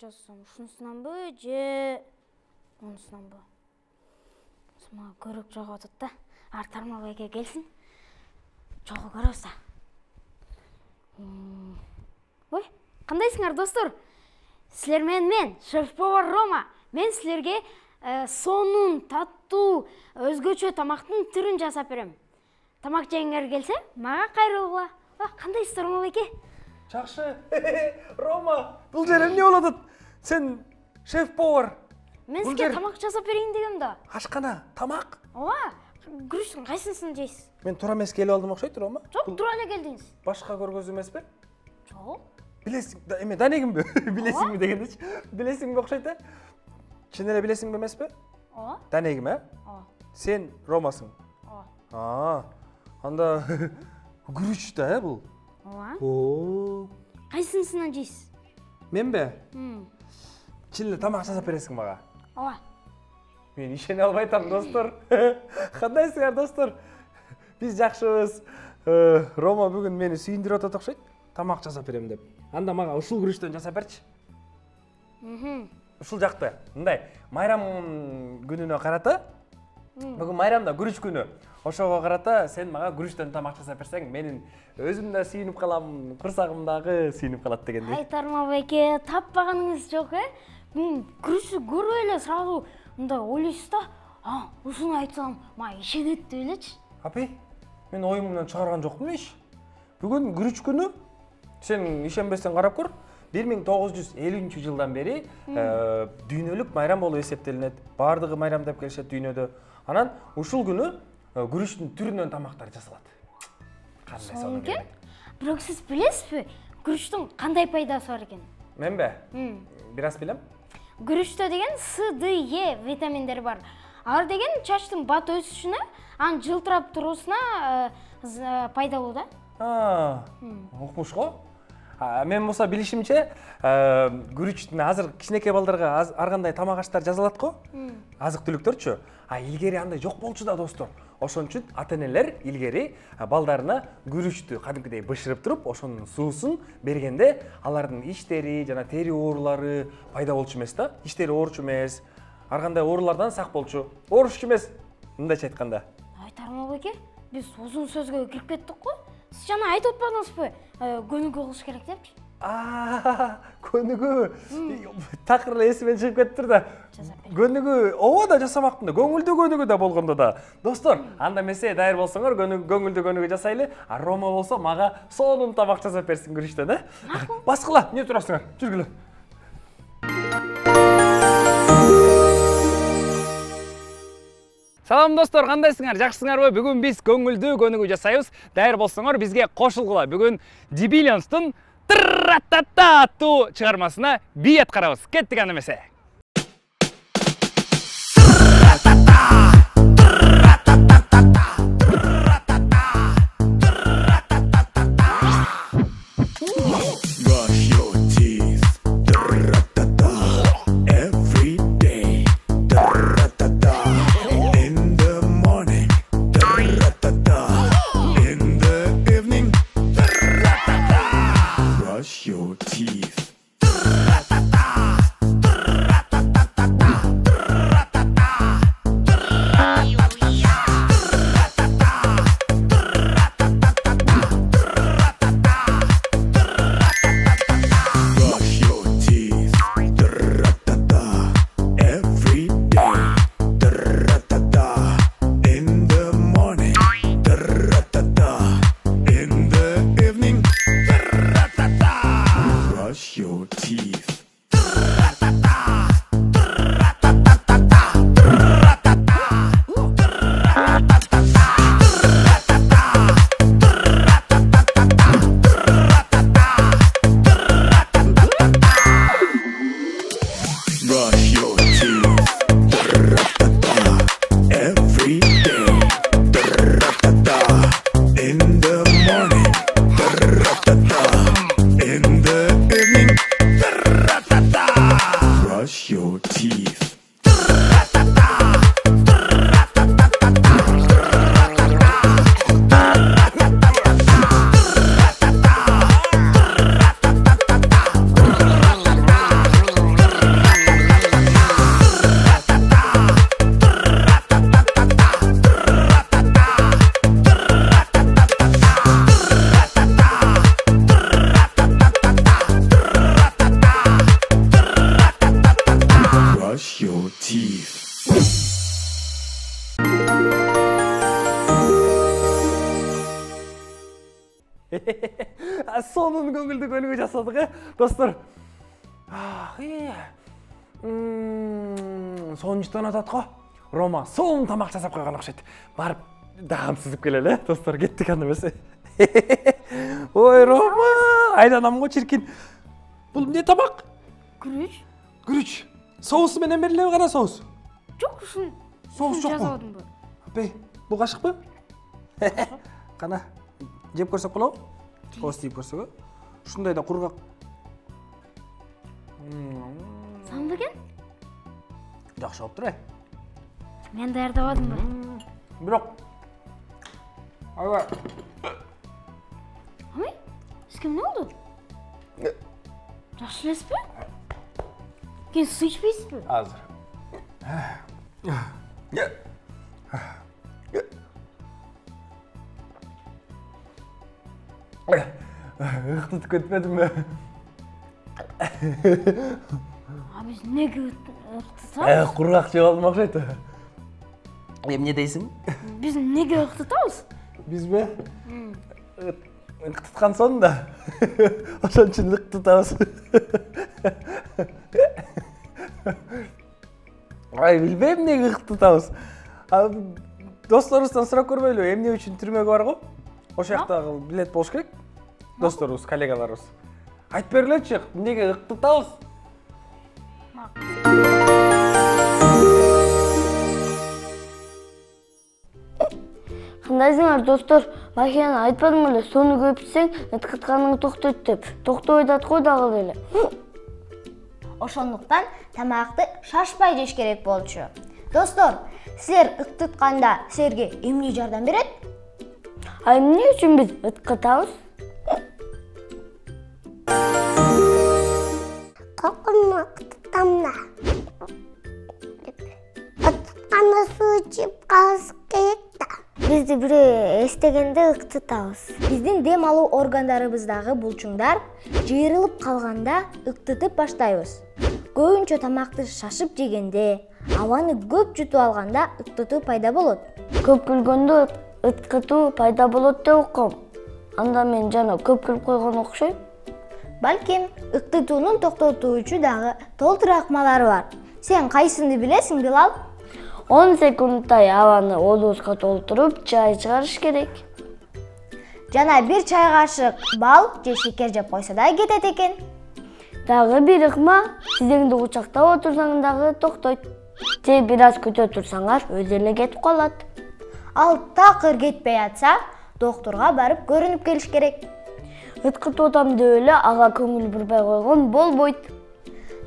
жасасам, ушунусунанбы же мунусунанбы? Мага көрөк жагып атат да. Артарма байке келсин. Жолго көрөбүз. Ой, кандайсыңар достор? Силер менен мен, шеф-повар Рома. Мен силерге сонун, таттуу, өзгөчө тамактын түрүн жасап берем. Тамак жегиңер келсе, мага кайрылгыла. Кандайсыздар Рома байке? Жакшы. Рома, бул жер эмне болуп атат? Сен шеф-повар. Мен сизге тамак жасап берейин дегем да. Ашкана, тамак? Ооба. Күрүчтүн кайсысын жейсиз? Мен туура эмес келип алдым окшойт, Рома. Жок, туура эле келдиңиз. Башка көргөзүү эмеспи? Жок. Билесиң, эме данегимби? Билесиңби дегендечи? Билесиңби окшойт да? Чын эле билесиңби эмеспи? Ооба. Данегим, Ооба. Сен Ромасың. Ооба. Анда күрүч да, бул? Ооба. Кайсысынан жейсиз? Менби? Чын эле тамак жасап бересиң мага? Ооба. Мен ишене албай атам, достор. Кандайсыңар, достор? Биз жакшыбыз. Рома бүгүн мени сүйүндүрүп атат окшойт. Тамак жасап берем деп. Анда мага ушул күрүчтөн жасап берчи. Ушул жакты. Мындай, майрам күнүнө карата. Бүгүн майрамда күрүч күнү. Ошого карата сен мага күрүчтөн тамак жасап берсең, менин өзүм да сүйүнүп калам, курсагым дагы сүйүнүп калат дегендей. Айтарма байке, таппаганыңыз жок, Күрүчтү көрүп эле сразу мындай ойлойсуз да, ушуну айтсам, мага ишенет деп элечи. Апи, мен оюмдан чыгарган жокмун иш. Бүгүн күрүч күнү. Сен ишенбесең карап көр. 1950-жылдан бери дүйнөлүк майрам болуп эсептелинет. Бардыгы майрамдап келишет дүйнөдө. Анан ушул күнү күрүчтүн түрүнөн тамактар жасалат. Кандай сонун экен? Бирок сиз билесизби, күрүчтүн кандай пайдасы бар экен? Менби? Бир аз билем. Күрүчтө деген С, Д, Е витаминдери бар. Алар деген чачтын бат өсүшүнө, анын жылтырап туруусуна пайдалуу да. Укмуш го. Мен болсо билишимче, күрүчтүн азыр кичинекей балдарга ар кандай тамак аштар жасалат го. Азык түлүктөрчү. Илгери андай жок болчу да, достор. Ошон үчүн ата-энелер илгери балдарына күрүчтү кадимкидей бышырып туруп, ошонун суусун бергенде алардын иштери жана тери оорулары пайда болчу эмес да. Иштери оорчу эмес, ар кандай оорулардан сак болчу. Оорушчу эмес, мындайча айтканда. Айтарма байке, биз узун сөзгө кирип кеттик го. Сиз жана айтып атпадыңызбы, көнүгүү кылыш керек депчи? Көнүгүү. Такыр эле эсимен чыгып кетиптир да. Көнүгүү, ооба да жасамакмын да, көңүлдүү көнүгүү да болгондо да. Достор, анда эмесе дайыр болсоңор, көңүлдүү көнүгүү жасайлы. Рома болсо мага сонун тамак жасап берсин күрүчтөн, Баскыла, эмне турасыңар? Жүргүлө. Салам достор, кандайсыңар? Жакшысыңарбы? Бүгүн биз көңүлдүү көнүгүү жасайбыз. Дайыр болсоңор бизге кошулгула. Бүгүн Дибиллионстун аттуу чыгармасына би аткарабыз. Кеттик анда эмесе. Сонун көңүлдүү көнүгүү жасадык, достор. Сонунчтан атат го. Рома сонун тамак жасап койгон окшойт. Барып даамсызып келели, достор. Кеттик анда эмесе. Ой, Рома, айланам го чиркин. Бул эмне тамак? Күрүч. Күрүч. Соусу менен берилеби гана соус? Жок, ушун. Соус жокпу? Жасабадымбы? Апей, бул кашыкпы? Кана жеп көрсөк болобу? Соус тийип көрсөк. Ушундай да кургак. Сандуу экен? Жакшы болуптур. Мен даярдабадымбы? Бирок аябай. Амай, сизге эмне болду? Жакшы элесизби? Кен суу ичпейсизби? Азыр. Ыктытып кетпедимби? Биз неге ыктытабыз? Кургак жеп алдым окшойт. Эмне дейсиң? Биз неге ыктытабыз? Бизби? Ыктыткан сон да. Ошон үчүн ыктытабыз. Ай, билбейм эмнеге ыктытабыз. Досторубуздан сурап көрбөйлүбү, эмне үчүн түрмөгө барго? Ошол жактагы билет болуш керек. Досторубуз, коллегаларыбыз. Айтып бергилечи, эмнеге ыктытабыз? Кандайсыңар, достор? Макияны айтпадым эле, сону көп ичсең, ыткытканың токтойт деп. Токтобой аткой дагы эле. Ошондуктан тамакты шашпай жеш керек болчу. Достор, силер ыктытканда силерге эмне жардам берет? А эмне үчүн биз ыткытабыз? Kokunu ıktıtamda. Itkıtkanda su içip kalsın gerek da. Бизди бирөө эстегенде ыктытабыз. Биздин дем алуу органдарыбыздагы булчуңдар жыйрылып калганда ыктытып баштайбыз. Көбүнчө тамакты шашып жегенде, абаны көп жутуп алганда ыктытуу пайда болот. Көп күлгөндө ыткытуу пайда болот деп уккам. Анда мен жана көп күлүп койгон окшойм. Балким, ыктытуунун токтотуучу дагы толтур акмалары бар. Сен кайсыны билесиң, Билал? 10 секундтай абаны оозубузга толтуруп, чай чыгарыш керек. Жана 1 чай кашык бал же шекер жеп койсо да кетет экен. Дагы бир ыкма, тизеңди кучактап отурсаң дагы токтойт. Же бир аз күтө турсаңар, өзү эле кетип калат. Ал такыр кетпей атса, доктурга барып көрүнүп келиш керек. Ыткытып атам деп эле ага көңүл бурбай койгон болбойт.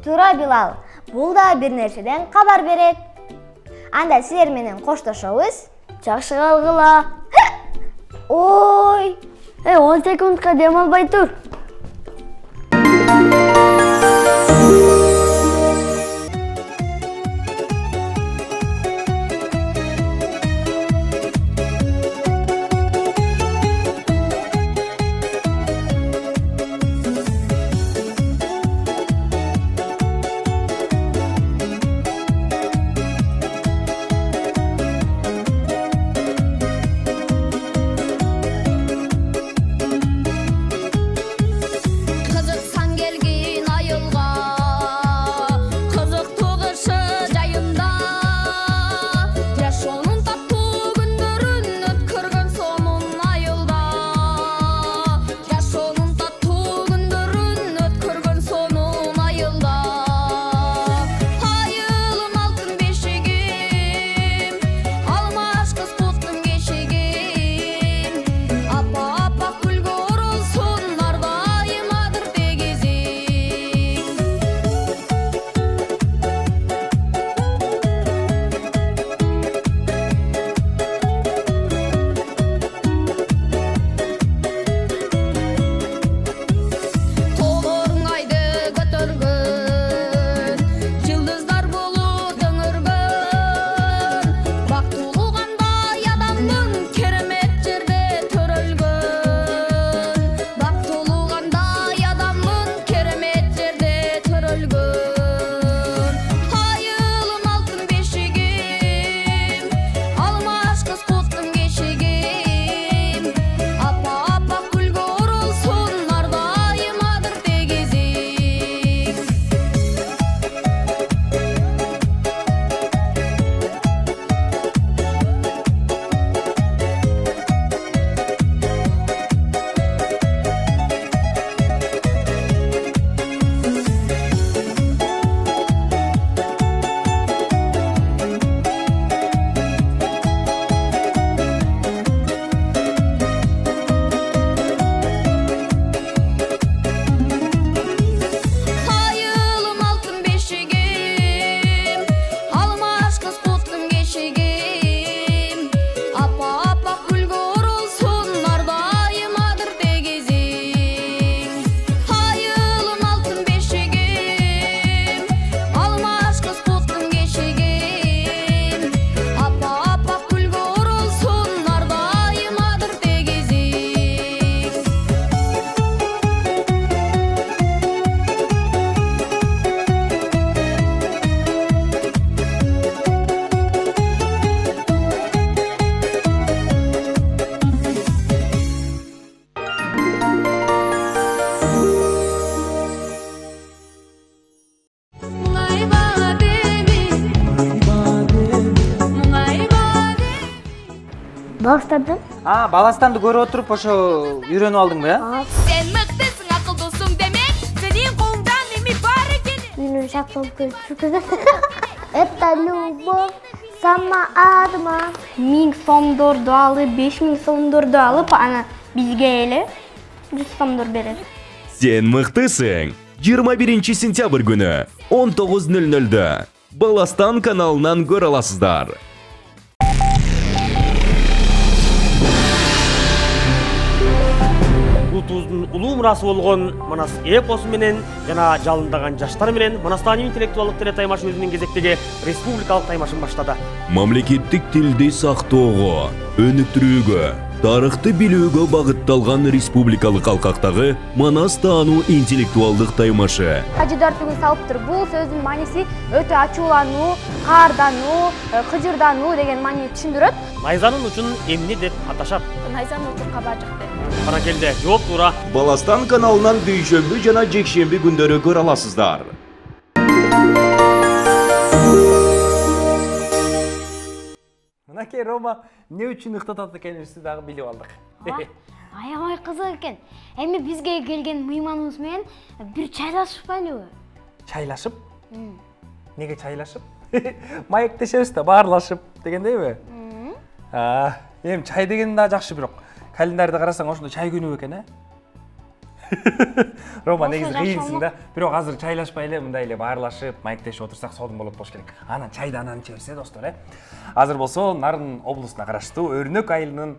Туура, Билал. Бул да бир нерседен кабар берет. Анда силер менен коштошобуз. Жакшы калгыла. Ой! 10 секундка дем албай тур. Баластандан. Баластанды көрүп отуруп ошо үйрөнүп алдыңбы, э? Сен мыктысың, акылдуусуң демек, сенин колуңдан эми баары келет. Менин шапкам көчүрүп. Это любовь сама адма. 1000 сомдорду алып, 5000 сомдорду алып, ана бизге эле 100 сомдор берет. Сен мыктысың. 21 сентябрь күнү 19:00 Баластан каналынан көрө аласыздар. Улутубуздун улуу мурасы болгон Манас эпосу менен жана жалындаган жаштар менен Манастан интеллектуалдык телетаймаш өзүнүн кезектеги республикалык таймашын баштады. Мамлекеттик тилди сактоого, өнүктүрүүгө, тарыхты билүүгө багытталган республикалык алкактагы Манас таануу интеллектуалдык таймашы. Кажыдартууну салыптыр. Бул сөздүн мааниси өтө ачуулануу, каардануу, кыжырдануу деген маанини түшүндүрөт. Найзанын учун эмне деп аташат? Найзанын учу кабажык деп. Канакелде жооп туура. Баластан каналынан дүйшөмбү жана жекшемби күндөрү көрө аласыздар. Мынакей Рома эмне үчүн ыктатат экенибизди дагы билип алдык. Аябай кызык экен. Эми бизге келген мыйманыбыз менен бир чайлашпайлыбы? Чайлашып? Неге чайлашып? Маектешебиз да баарлашып дегендейби? Эми чай деген да жакшы, бирок календарда карасаң ошондо чай күнү экен, э? Рома негизи кыйынсың да. Бирок азыр чайлашпай эле мындай эле баарлашып, маектешип отурсак сонун болот болуш керек. Анан чайды анан ичебиз, достор, э? Азыр болсо Нарын облусуна караштуу Өрнөк айылынын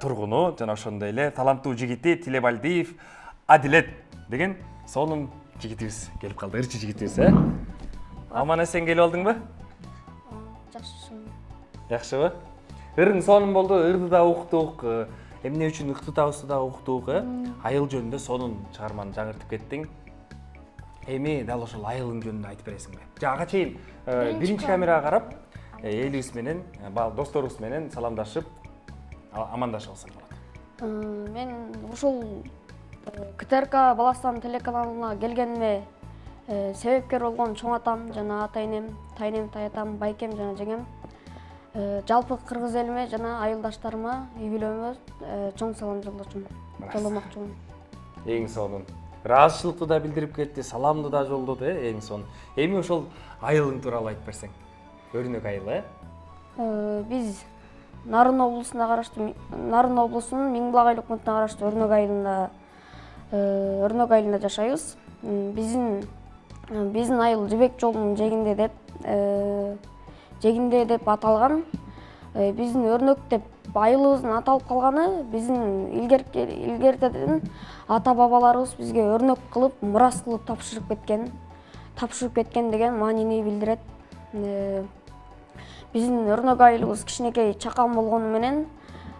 тургуну жана ошондой эле таланттуу жигити Тилебалдиев Адилет деген сонун жигитибиз келип калды, ырчы жигитибиз, э? Аман эсен келип алдыңбы? Жакшыбы? Ырың сонун болду, ырды да уктук, эмне үчүн ыктытабызды да уктук, э? Айыл жөнүндө сонун чыгарманы жаңыртып кеттиң. Эми дал ошол айылың жөнүндө айтып бересиңби? Ага чейин биринчи камерага карап, элибиз менен, досторубуз менен саламдашып, амандашып алсаң болот. Мен ушул КТРК Баластан телеканалына келгениме себепкер болгон чоң атам жана ата-энем, тайнем, таятам, байкем жана жеңем, жалпы кыргыз элиме жана айылдаштарыма, үй бүлөмө чоң салам жолдомокчумун. Эң сонун. Ыраазычылыкты да билдирип кетти, саламды да жолдоду, эң сонун. Эми ошол айылың тууралуу айтып берсең. Өрнөк айылы, э? Биз Нарын облусуна караштуу, Нарын облусунун Миңбулак айыл өкмөтүнө караштуу Өрнөк айылында жашайбыз. Биздин айыл Жибек жолунун жегинде деп аталган. Биздин Өрнөк деп айылыбыздын аталып калганы биздин илгертеден ата-бабаларыбыз бизге өрнөк кылып, мурас кылып тапшырып кеткен деген маанини билдирет. Биздин Өрнөк айылыбыз кичинекей чакан болгону менен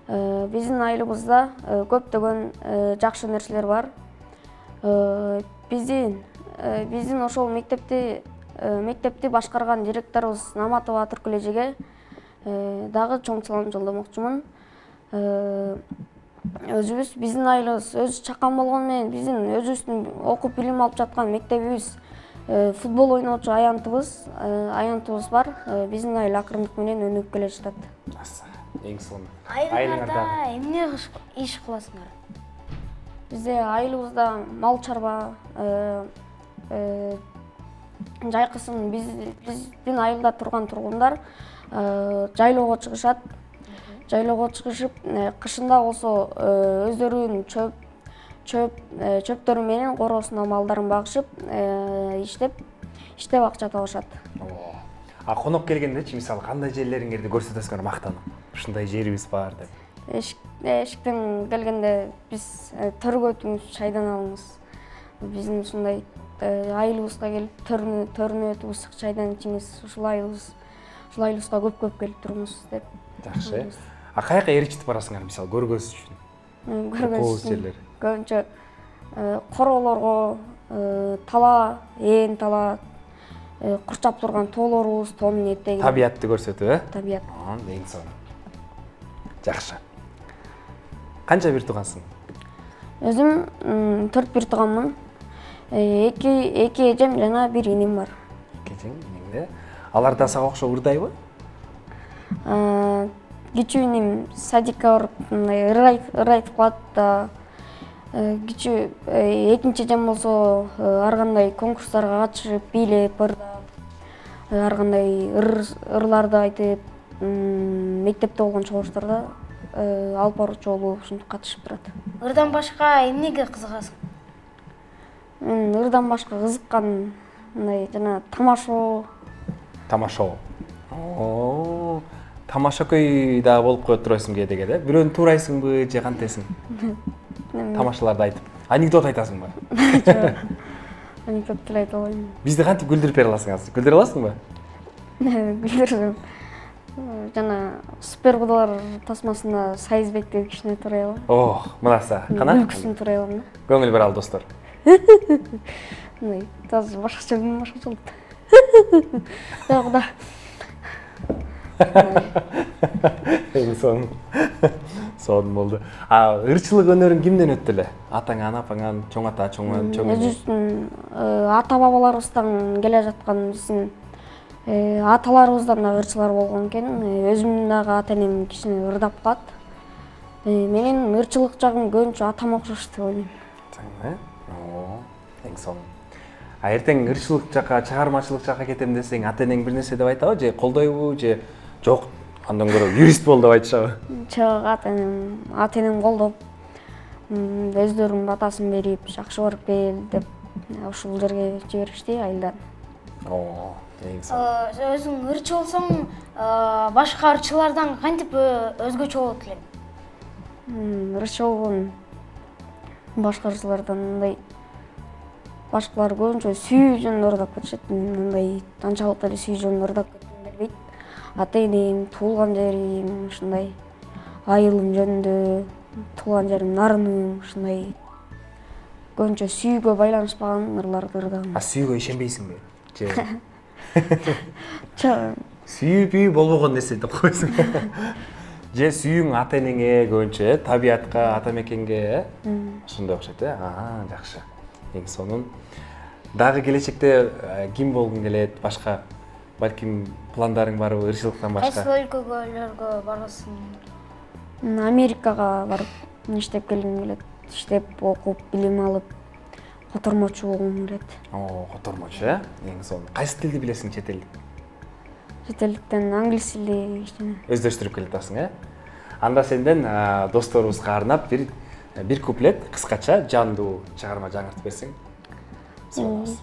биздин айылыбызда көптөгөн жакшы нерселер бар. Биздин ошол мектепти башкарган директорубуз Наматова Түркүл эжеге дагы чоң салам жолдомокчумун. Биздин айылыбыз өзү чакан болгону менен биздин өзүбүздүн окуп билим алып жаткан мектебибиз, футбол ойночу аянтыбыз бар. Биздин айыл акырындык менен өнүгүп келе жатат. Эң сонун. Айылыңарда эмне иш кыласыңар? Бизде айылыбызда мал чарба, жайкысын биздин айылда турган тургундар жайлоого чыгышат. Жайлоого чыгышып, кышында болсо өздөрүнүн чөптөрү менен короосуна малдарын багышып, иштеп акча табышат. Конок келгендечи, мисалы, кандай жерлериңерди көрсөтөсүңөр мактанып? Ушундай жерибиз бар деп. Эшиктен келгенде биз төргөтүбүз, чайдан алабыз. Биздин ушундай айылыбызга келип төрүнө өтүп ысык чайдан ичиңиз, ушул айылыбызга көп келип туруңуз деп. Жакшы. Каяка ээрчитип барасыңар, мисалы, көргөзүш үчүн? Көргөзүш үчүн көбүнчө короолорго, тала, тала, курчап турган тоолорубуз, тоонун этеги. Табиятты көрсөтүү, э? Табият. Эң сонун. Жакшы. Канча бир туугансың? Өзүм 4 бир тууганмын. 2 эжем жана 1 иним бар. 2 эжең, инең. Алар да сага окшоп ырдайбы? кичүү инем садикка барып мындай ыр айтып калат да. Кичүү экинчи эжем болсо ар кандай конкурстарга катышып, бийлеп, ырдап, ар кандай ырларды айтып, мектепте болгон чогулуштарда алып баруучу болуп ушинтип катышып турат. Ырдан башка эмнеге кызыгасың? Мен ырдан башка кызыккан мындай жана тамашоо. Тамашоо. Тамашакөй да болуп коет турасың кээде да? Бирөөнү туурайсыңбы же кантесиң? Тамашаларды айтып. Анекдот айтасыңбы? Жок. Анекдот деле айта албайм. Бизди кантип күлдүрүп бере аласың азыр? Күлдүрө аласыңбы? Күлдүрсөм. Жана супер кудалар тасмасында сайызбекти кичине турай алам. Ох, мынаса. Кана? Күлкүсүн турай алам да. Көңүл бер ал достор. Мындай таза башкача болот. Жок да. Сон болду. Ырчылык өнөрүң кимден өттү эле? Атаңан, апаңан, чоң ата, чоң өзүбүздүн ата бабаларыбыздан келе жаткан биздин аталарыбыздан да ырчылар болгон экен. Өзүмдүн дагы ата энем кичине ырдап калат. Менин ырчылык жагым көбүнчө атама окшош деп ойлойм. Эң сонун. Эртең ырчылык жака, чыгармачылык жака кетем десең, ата энең бир нерсе деп айтабы, же колдойбу, же жок, андан көрө юрист бол деп айтышабы? Жок, ата энем колдоп, өздөрүнүн батасын берип, жакшы барып кел деп ушул жерге жиберишти айылдан. Эң сонун. Өзүң ырчы болсоң, башка ырчылардан кантип өзгөчө болот элең? Ырчы болгон башка ырчылардан мындай башкалар көбүнчө сүйүү жөнүндө ырдап кетишет. Мындай анчалык эле сүйүү жөнүндө ырдап кетким келбейт. Ата энем, туулган жерим, ушундай айылым жөнүндө, туулган жерим, нарыным, ушундай көбүнчө сүйүүгө байланышпаган ырларды ырдагам. Сүйүүгө ишенбейсиңби? Же Жок. сүйүү болбогон нерсе деп койсуң. Же сүйүүң ата энеңе көбүнчө, табиятка, ата мекенге, ошондой окшойт жакшы. Эң сонун. Дагы келечекте ким болгуң келет? Башка балким пландарың барбы ырчылыктан башка? Кайсы өлкөгө барасың? Америкага барып иштеп келгим келет. Иштеп, окуп, билим алып, котормочу болгум келет. Котормочу, эң сонун. Кайсы тилди билесиң, чет элдик? Чет элдиктен англис тили кичине. Өздөштүрүп келатасың, Анда сенден досторубузга арнап бир куплет кыскача жандуу чыгарма жаңыртып берсең.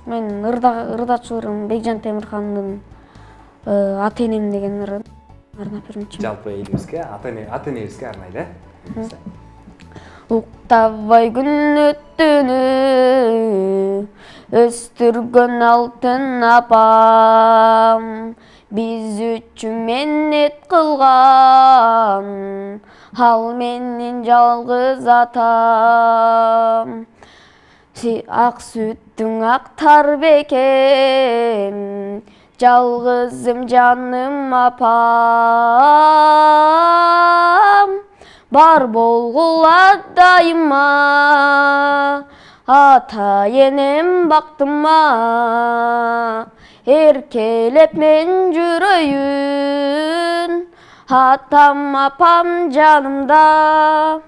Мен ырдачыларым Бекжан Темирхандын Ата энем деген ырын арнап бермекчимин. Жалпы элибизге, ата энебизге арнайлы. Уктабай күн өттүнү өстүргөн алтын апам, биз үчүн менет кылган, ал менин жалгыз атам. Ак сүттүң актар бекем, жалгызым жаным апам. Бар болгула дайыма, ата энем бактыма, эркелеп мен жүрөйүн, атам апам жанымда.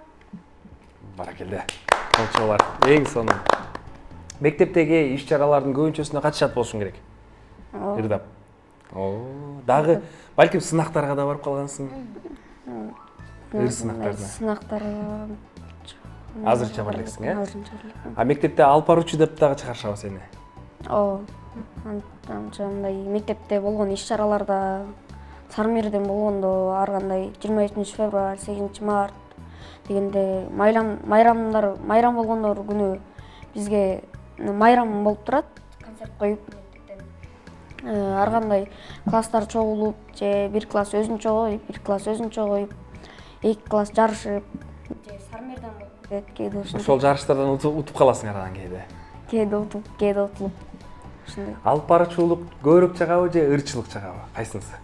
Баракелде. Болчолар, эң сонун. Мектептеги иш-чаралардын көбүнчөсүнө катышат болушуң керек. Ырдап. Дагы балким сынактарга да барып калгансың. Сынактарына. Сынактарга Азырча бар элексиң, Мектепте алып баруучу деп дагы чыгарышабы сени? Анча мындай мектепте болгон иш-чараларда, Сармерден болгондо ар кандай 23 февраль, 8 март дегенде майрам болгондор күнү бизге майрам болуп турат, концерт коюп мектептен. Ар кандай класстар чогулуп, же бир класс өзүнчө коюп, бир класс өзүнчө коюп, эки класс жарышып, же Сармерден болуп кетет, кээде ошондой. Ошол жарыштардан утуп каласың арадан кээде. Кээде утуп, кээде утулуп. Ошондой. Алып баруучулук көбүрөөк жагабы же ырчылык жагабы? Кайсынысы?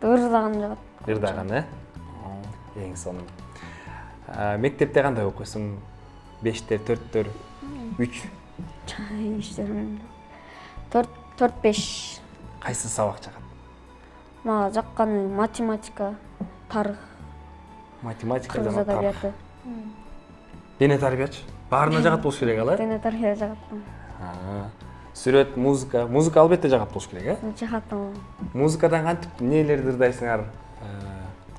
Ырдаган жагат. Ырдаган, Эң сонун. Мектепте кандай окуйсуң? 5-тер, 4-төр, 3? 4-5. Кайсы сабак жагат? Мага жакканы математика, тарых, Математика кыргыз жана тарых. адабияты. Дене тарбиячы. Баарына жагат болуш керек ал, э? Дене тарбия жагат. Сүрөт, музыка. Музыка албетте жагат болуш керек, э? Жагат. Музыкадан кантип нелерди ырдайсыңар?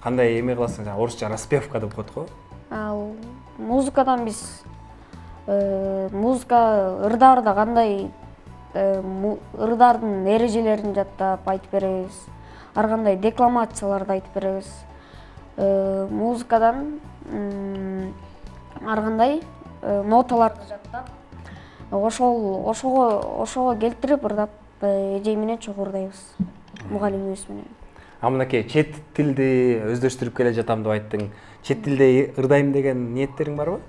Кандай эме кыласың? Орусча распевка деп коет го. Ал музыкадан биз музыка ырдаарда кандай ырдаардын эрежелерин жаттап айтып беребиз. Ар кандай декламацияларды айтып беребиз. Музыкадан ар кандай ноталарды жаттап, ошого келтирип ырдап, эжей менен чогуу ырдайбыз. Мугалимибиз менен. Мынакей чет тилди өздөштүрүп келе жатам деп айттың. Чет тилде ырдайм деген ниеттериң барбы?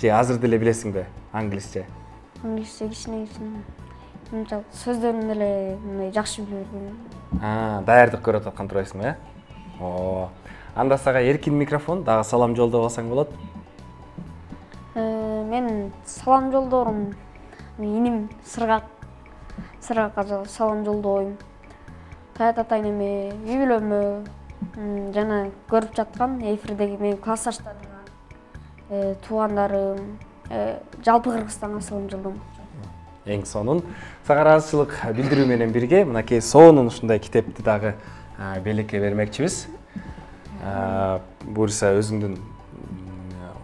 Же азыр деле билесиңби англисче? Англисче кичине. Мынча сөздөрүн эле мындай жакшы билбейм. Даярдык көрүп аткан турасың, э? Анда сага эркин микрофон, дагы салам жолдоп алсаң болот. Мен салам жолдорум, иним Сыргакка салам жолдойм. Таят атайнеме, үй бүлөмө жана көрүп жаткан эфирдеги менин классташтарыма, туугандарым, жалпы Кыргызстанга салам жолдойм. Эң сонун сага ыраазычылык билдирүү менен бирге мынакей сонун ушундай китепти дагы белекке бермекчибиз. Буюрса өзүңдүн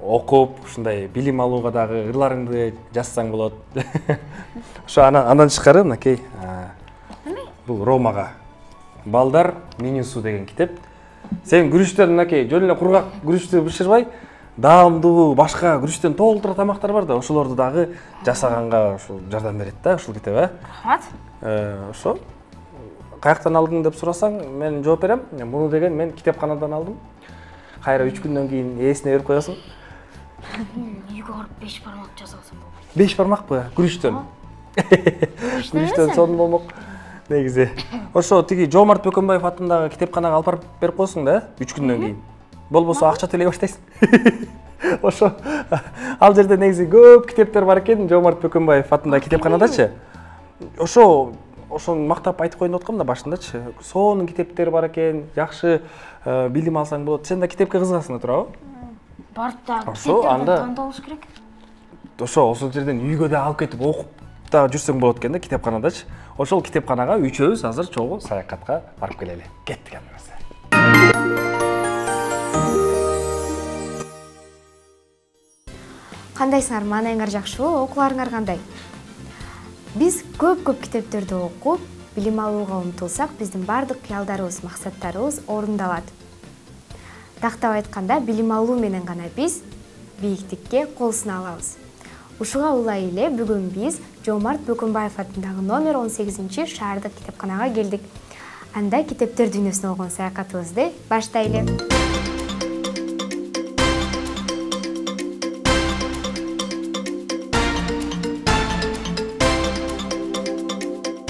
окуп, ушундай билим алууга дагы ырларыңды жазсаң болот. Ошо андан тышкары мынакей бул Ромага балдар менюсу деген китеп. Сен күрүчтөн мынакей жөн эле кургак күрүчтү бышырбай, даамдуу башка күрүчтөн толтура тамактар бар да, ошолорду дагы жасаганга ушул жардам берет да ушул китеп, э? Рахмат. Ошо каяктан алдың деп сурасаң, мен жооп берем. Муну деген мен китепканадан алдым. Кайра 3 күндөн кийин ээсине берип коесуң. Үйгө барып 5 бармак жасап алсам болот. 5 бармакпы? Күрүчтөн. Күрүчтөн сонун болмок. Негизи. Ошо тиги Жомарт Бөкөнбаев атындагы китепканага алып берип коесуң да, 3 күндөн кийин. Болбосо акча төлөй баштайсың. Ошо ал жерде негизи көп китептер бар экен, Жомарт Бөкөнбаев атындагы китепканадачы. Ошону мактап айтып коеюн деп аткам да башындачы. Сонун китептер бар экен, жакшы билим алсаң болот. Сен да китепке кызыгасың да туурабы? Барып да китептерди таанып алыш керек. Ошол жерден үйгө да алып кетип окуп да жүрсөң болот экен да китепканадачы. Ошол китепканага үчөөбүз азыр чогуу саякатка барып келели. Кеттик анда. Кандайсыңар, маанайыңар жакшыбы, окууларыңар кандай? Биз көп китептерди окуп, билим алууга умтулсак, биздин бардык кыялдарыбыз, максаттарыбыз орундалат. Тактап айтканда, билим алуу менен гана биз бийиктикке кол суна алабыз. Ушуга улай эле бүгүн биз Жомарт Бөкөнбаев атындагы номер 18 шаардык китепканага келдик. Анда китептер дүйнөсүнө болгон саякатыбызды баштайлы.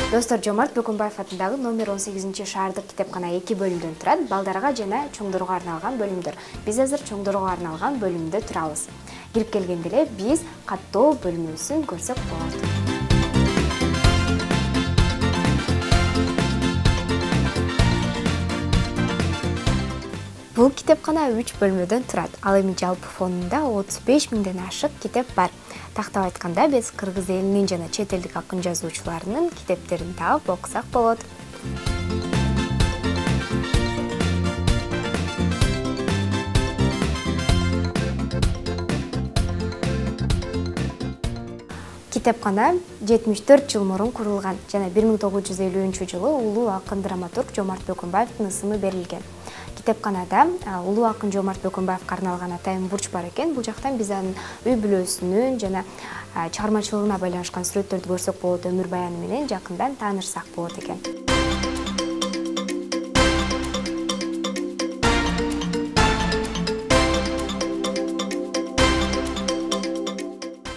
Достор, Жомарт Бөкөнбаев атындагы номер 18 шаардык китепкана 2 бөлүмдөн турат. Балдарга жана чоңдорго арналган бөлүмдөр. Биз азыр чоңдорго арналган бөлүмдө турабыз. Кирип келгенде эле биз каттоо бөлүмүбүздүн көрсөк болот. Бул китепкана 3 бөлмөдөн турат. Ал эми жалпы фонунда 35 миңден ашык китеп бар. Тактап айтканда, биз кыргыз элинин жана чет элдик акын жазуучуларынын китептерин таап окусак болот. Китепкана 74 жыл мурун курулган жана 1950-жылы улуу акын драматург Жомарт Бөкөнбаевдин ысымы берилген. Китепканада улуу акын Жомарт Бөкөнбаевге арналган атайын бурч бар экен. Бул жактан биз анын үй бүлөсүнүн жана чыгармачылыгына байланышкан сүрөттөрдү көрсөк болот, өмүр баяны менен жакындан таанышсак болот экен.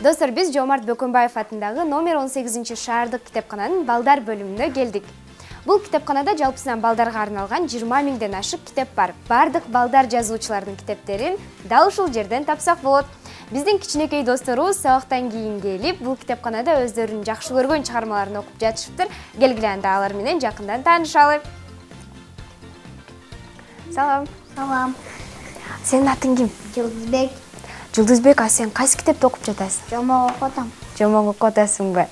Достор, биз Жомарт Бөкөнбаев атындагы номер 18 шаардык китепкананын балдар бөлүмүнө келдик. Бул китепканада жалпысынан балдарга арналган 20 миңден ашык китеп бар. Бардык балдар жазуучулардын китептерин дал ушул жерден тапсак болот. Биздин кичинекей досторубуз сабактан кийин келип, бул китепканада өздөрүнүн жакшы көргөн чыгармаларын окуп жатышыптыр. Келгиле анда алар менен жакындан таанышалы. Салам. Салам. Сенин атың ким? Жылдызбек. Жылдызбек, сен кайсы китепти окуп жатасың? Жомок окуп атам. Жомок окуп атасыңбы?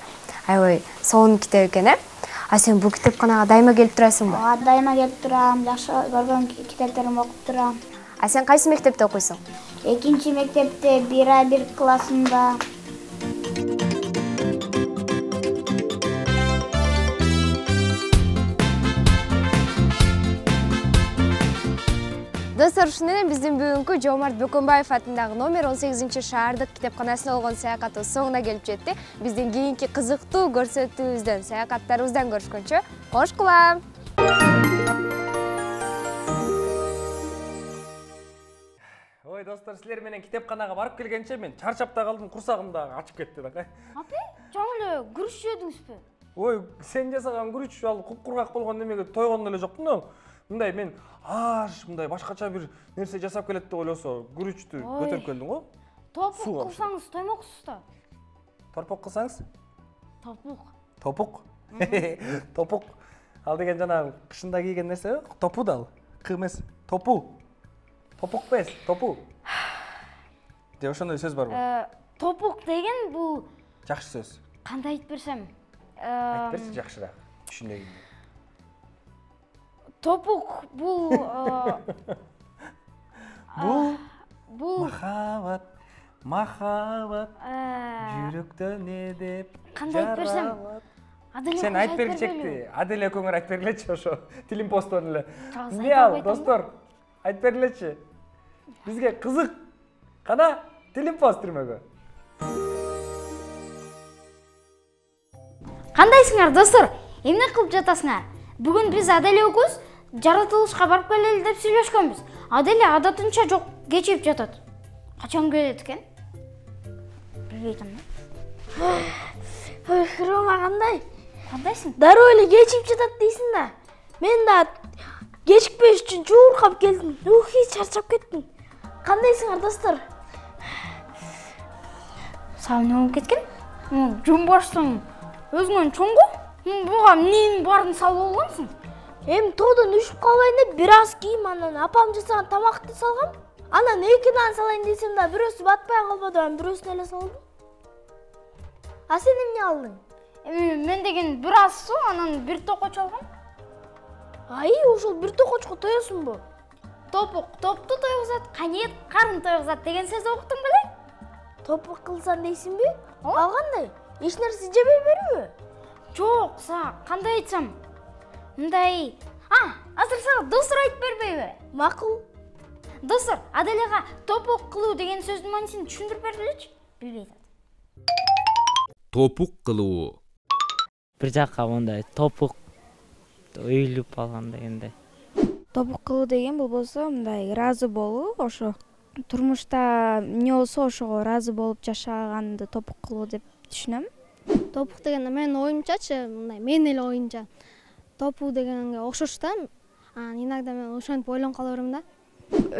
Аябай сонун китеп экен, сен бул китепканага дайыма келип турасыңбы? Дайыма келип турам, жакшы көргөн китептеримди окуп турам. Сен кайсы мектепте окуйсуң? 2 мектепте 1А1 классында. Достор, ушуну менен биздин бүгүнкү Жоомарт Бөкөнбаев атындагы номер 18-шаардык китепканасына болгон саякатыбыз соңуна келип жетти. Биздин кийинки кызыктуу көрсөтүүбүздөн, саякаттарыбыздан көрүшкөнчө кош кулам. Ой, достор, силер менен китепканага барып келгенче мен чарчап да калдым, курсагым да ачып кетти да. Апа, жаңы эле күрүч жедиңизби? Ой, сен жасаган күрүч ал куп-кургак болгон немеге тойгон эле жокмун да. Мындай мен мындай башкача бир нерсе жасап келет деп ойлосо, күрүчтү көтөрүп келдим го. Топук кылсаңыз тоймоксуз да. Торпок кылсаңыз? Топук. Топук? Топук. Ал деген жана кышында кийген нерсе, топу да ал. Кы эмес, топу. Топук бес, топу. Же ошондой сөз барбы? Топук деген бул жакшы сөз. Кандай айтып берсем? Айтып берчи жакшыраак. Түшүнөйүн. Топук бул махаббат, махаббат. Жүрөктө не деп? Кандай айтып берсем? Сен айтып бергичекти. Адель экөөңөр айтып бергилечи ошо. Тилим постон эле. Эмне ал, достор? Айтып бергилечи. Бизге кызык. Кана Тилим пост түрмөгө. Кандайсыңар, достор? Эмне кылып жатасыңар? Бүгүн биз Адель экөөбүз жаратылышка барып келели деп сүйлөшкөнбүз. Адель адатынча жок кечип жатат. Качан келет экен? Билбейм да. Ой, Рома кандай? Кандайсың? Дароо эле кечип жатат дейсиң да. Мен да кечикпеш үчүн жууркап келдим. Чарчап кеттим. Кандайсыңар, достор? Сал эмне болуп кеткен? Жумбашсың. Өзүңөн чоңго? Буга эмненин баарын салып алгансың? Тоодон үшүп калбайын деп бир аз кийим, анан апам жасаган тамакты салгам. Анан 2 нан салайын десем да бирөөсү батпай калбады, анан бирөөсүн эле салдым. Сен эмне алдың? Мен деген бир аз суу, анан бир токоч алгам. Ошол бир токочко тоесуңбу? Топук топту тойгузат, канет карын тойгузат деген сөздү уктуң беле? Топук кылсаң дейсиңби? Ал кандай? Эч нерсе жебей берби? Жок, кандай айтсам? Мындай. Азыр сага достор айтып бербейби? Макул. Достор, Аделяга топук кылуу деген сөздүн маанисин түшүндүрүп бергилечи. Билбей атат. Топук кылуу. Бир жакка мындай топук өйүлүп алган дегендей. Топук кылуу деген болбосо мындай ыраазы болуу, ошо турмушта эмне болсо ошого ыраазы болуп жашаганды топук кылуу деп түшүнөм. Топук дегенде менин оюмчачы, мындай менин эле оюмча топуу дегенге окшош да. Иногда мен ошентип ойлонуп кала берем да.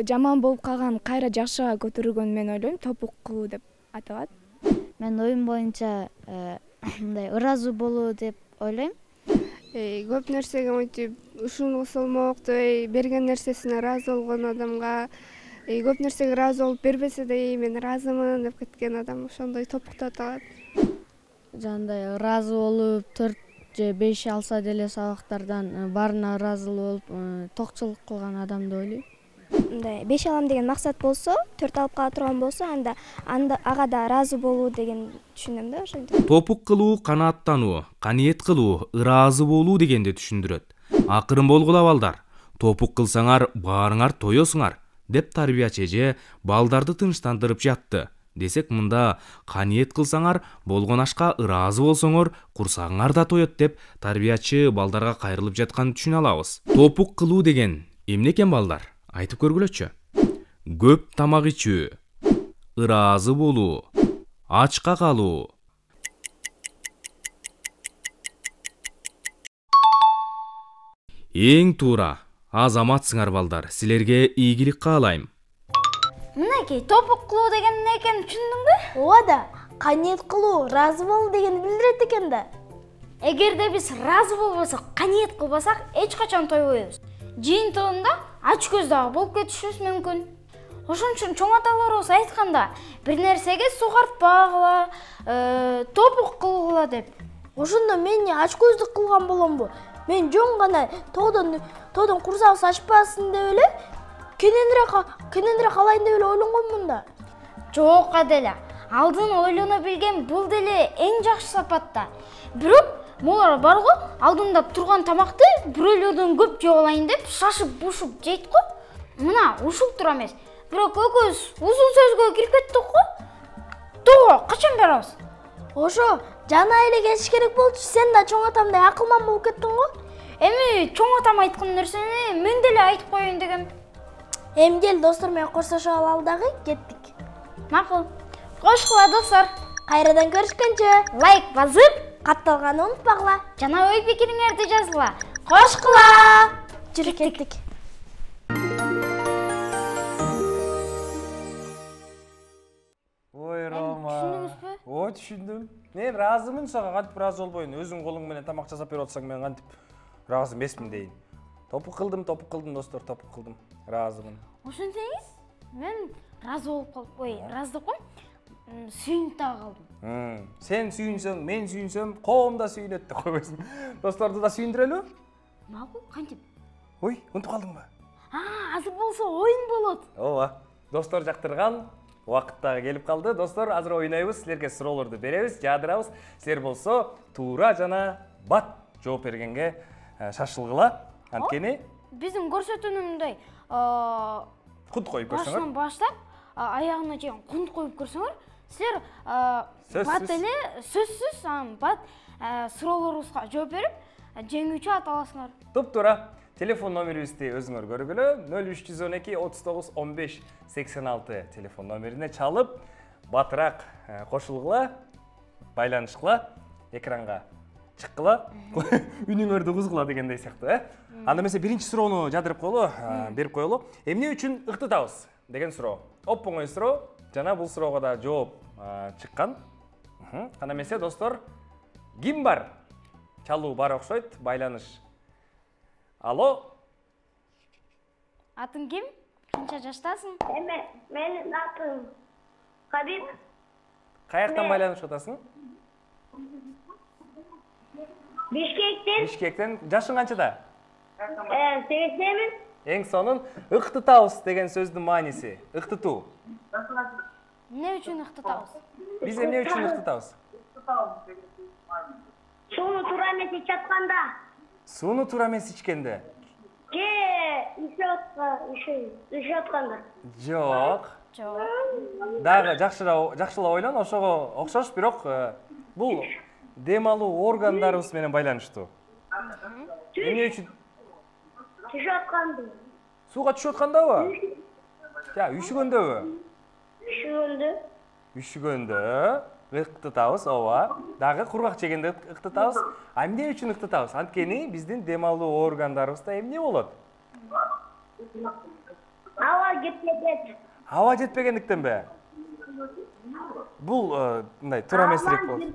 Жаман болуп калган кайра жакшыга көтөрүүгөн мен ойлойм, топук кылуу деп аталат. Мен оюм боюнча мындай ыраазы болуу деп ойлойм. Көп нерсеге мынтип ушуну кылсалмок деп берген нерсесине ыраазы болгон адамга көп нерсеге ыраазы болуп бербесе да мен ыраазымын деп кеткен адам ошондой топукту аталат. Жандай ыраазы болуп 4 же 5 алса деле сабактардан баарына ыраазы болуп токчулук кылган адамды ойлойм. Мындай 5 алам деген максат болсо, 4 алып кала турган болсо, анда ага да ыраазы болуу деген түшүнөм да ошентип. Топук кылуу канааттануу, каниет кылуу, ыраазы болуу дегенди түшүндүрөт. Акырын болгула балдар. Топук кылсаңар баарыңар тоесуңар деп тарбиячы эже балдарды тынчтандырып жатты. Десек мында каниет кылсаңар болгон ашка ыраазы болсоңор курсагыңар да тоет деп тарбиячы балдарга кайрылып жатканын түшүнө алабыз. Топук кылуу деген эмне экен балдар? Айтып көргүлөчү. Көп тамак ичүү, ыраазы болуу, ачка калуу. Эң туура. Азаматсыңар балдар. Силерге ийгилик каалайм. Мынакей топук кылуу деген эмне экенин түшүндүңбү? Ооба да, каниет кылуу, ыраазы болуу дегенди билдирет экен да. Эгерде биз ыраазы болбосок, каниет кылбасак, эч качан тойбойбуз. Жыйынтыгында ач көз дагы болуп кетишибиз мүмкүн. Ошон үчүн чоң аталарыбыз айтканда, бир нерсеге сугартпагыла, топук кылгыла деп. Ошондо мен ач көздүк кылган боломбу? Мен жөн гана тоодон курсагыбыз ачпасын деп эле кененирээк алайын деп эле ойлонгонмун да. Жок Аделя, алдын ойлоно билген бул деле эң жакшы сапат да. Бирок молар барго, алдында турган тамакты бирөөлөрдөн көп жеп алайын деп шашып-бушуп жейт го. Мына ушул тура эмес. Бирок экөөбүз узун сөзгө кирип кеттик го. Тоо, качан барабыз? Ошо, жана эле кетиш керек болчу. Сен да чоң атамдай акылман болуп кеттиң го. Эми чоң атам айткан нерсени мен деле айтып коеюн дегем. Эми кел достор менен коштошо алалы дагы, кеттик. Макул. Кошкула достор. Кайрадан көрүшкөнчө. Лайк басып, катталганды унутпагыла. Жана ой пикириңерди жазгыла. Кошкула. Жүрүп кеттик. Ой, Рома. Түшүндүңүзбү? Ой, түшүндүм. Мен ыраазымын, сага кантип ыраазы болбойн? Өзүң колуң менен тамак жасап берип атсаң, мен кантип ыраазы эмесмин дейин. Топук кылдым достор, топук кылдым. Ыраазымын. Ошентсеңиз, мен ыраазы болуп калып, ыраазы деп коем, сүйүнүп дагы калдым. Сен сүйүнсөң, мен сүйүнсөм, коом да сүйүнөт деп койбойсуң. Досторду да сүйүндүрөлү? Макул, кантип? Ой, унутуп калдыңбы? Азыр болсо оюн болот. Ооба. Достор жактырган убакыт дагы келип калды. Достор, азыр ойнойбуз, силерге суроолорду беребиз, жаадырабыз. Силер болсо туура жана бат жооп бергенге шашылгыла. Анткени биздин көрсөтүүнүндөй кунт коюп көрсөңөр. Башынан баштап аягына чейин кунт коюп көрсөңөр, силер бат эле сөзсүз бат суроолорубузга жооп берип жеңүүчү ата аласыңар. Туп-туура. Телефон номерибизди өзүңөр көргүлө. 0312 39 15 86 телефон номерине чалып, батыраак кошулгула, байланышкыла, экранга чыккыла, үнүңөрдү кузгула дегендей сыяктуу, Анда эмесе биринчи суроону жадырып коелу, берип коелу. Эмне үчүн ыктытабыз деген суроо. Оп оңой суроо, жана бул суроого да жооп чыккан. Анда эмесе достор, ким бар? Чалуу бар окшойт, байланыш. Алло. Атың ким? Канча жаштасың? Менин атым Кабиб. Каяктан байланышып атасың? Бишкектен. Бишкектен. Жашың канчада? 80. Эң сонун ыктытабыз деген сөздүн мааниси. Ыктытуу. Эмне үчүн ыктытабыз? Биз эмне үчүн ыктытабыз? Сууну туура эмес ичип атканда. Сууну туура эмес ичкенде? Ишип атканда. Жок. Дагы жакшылап ойлон, ошого окшош, бирок бул дем алуу органдарыбыз менен байланыштуу. Эмне үчүн? Түшүп атканда. Сууга түшүп аткандабы? Үшүгөндөбү? Үшүгөндө ыктытабыз, ооба. Дагы кургак жегенде ыктытабыз. Эмне үчүн ыктытабыз? Анткени биздин дем алуу органдарыбызда эмне болот? Аба жетпеген. Аба жетпегендиктенби? Бул мындай туура эмесирээк болот.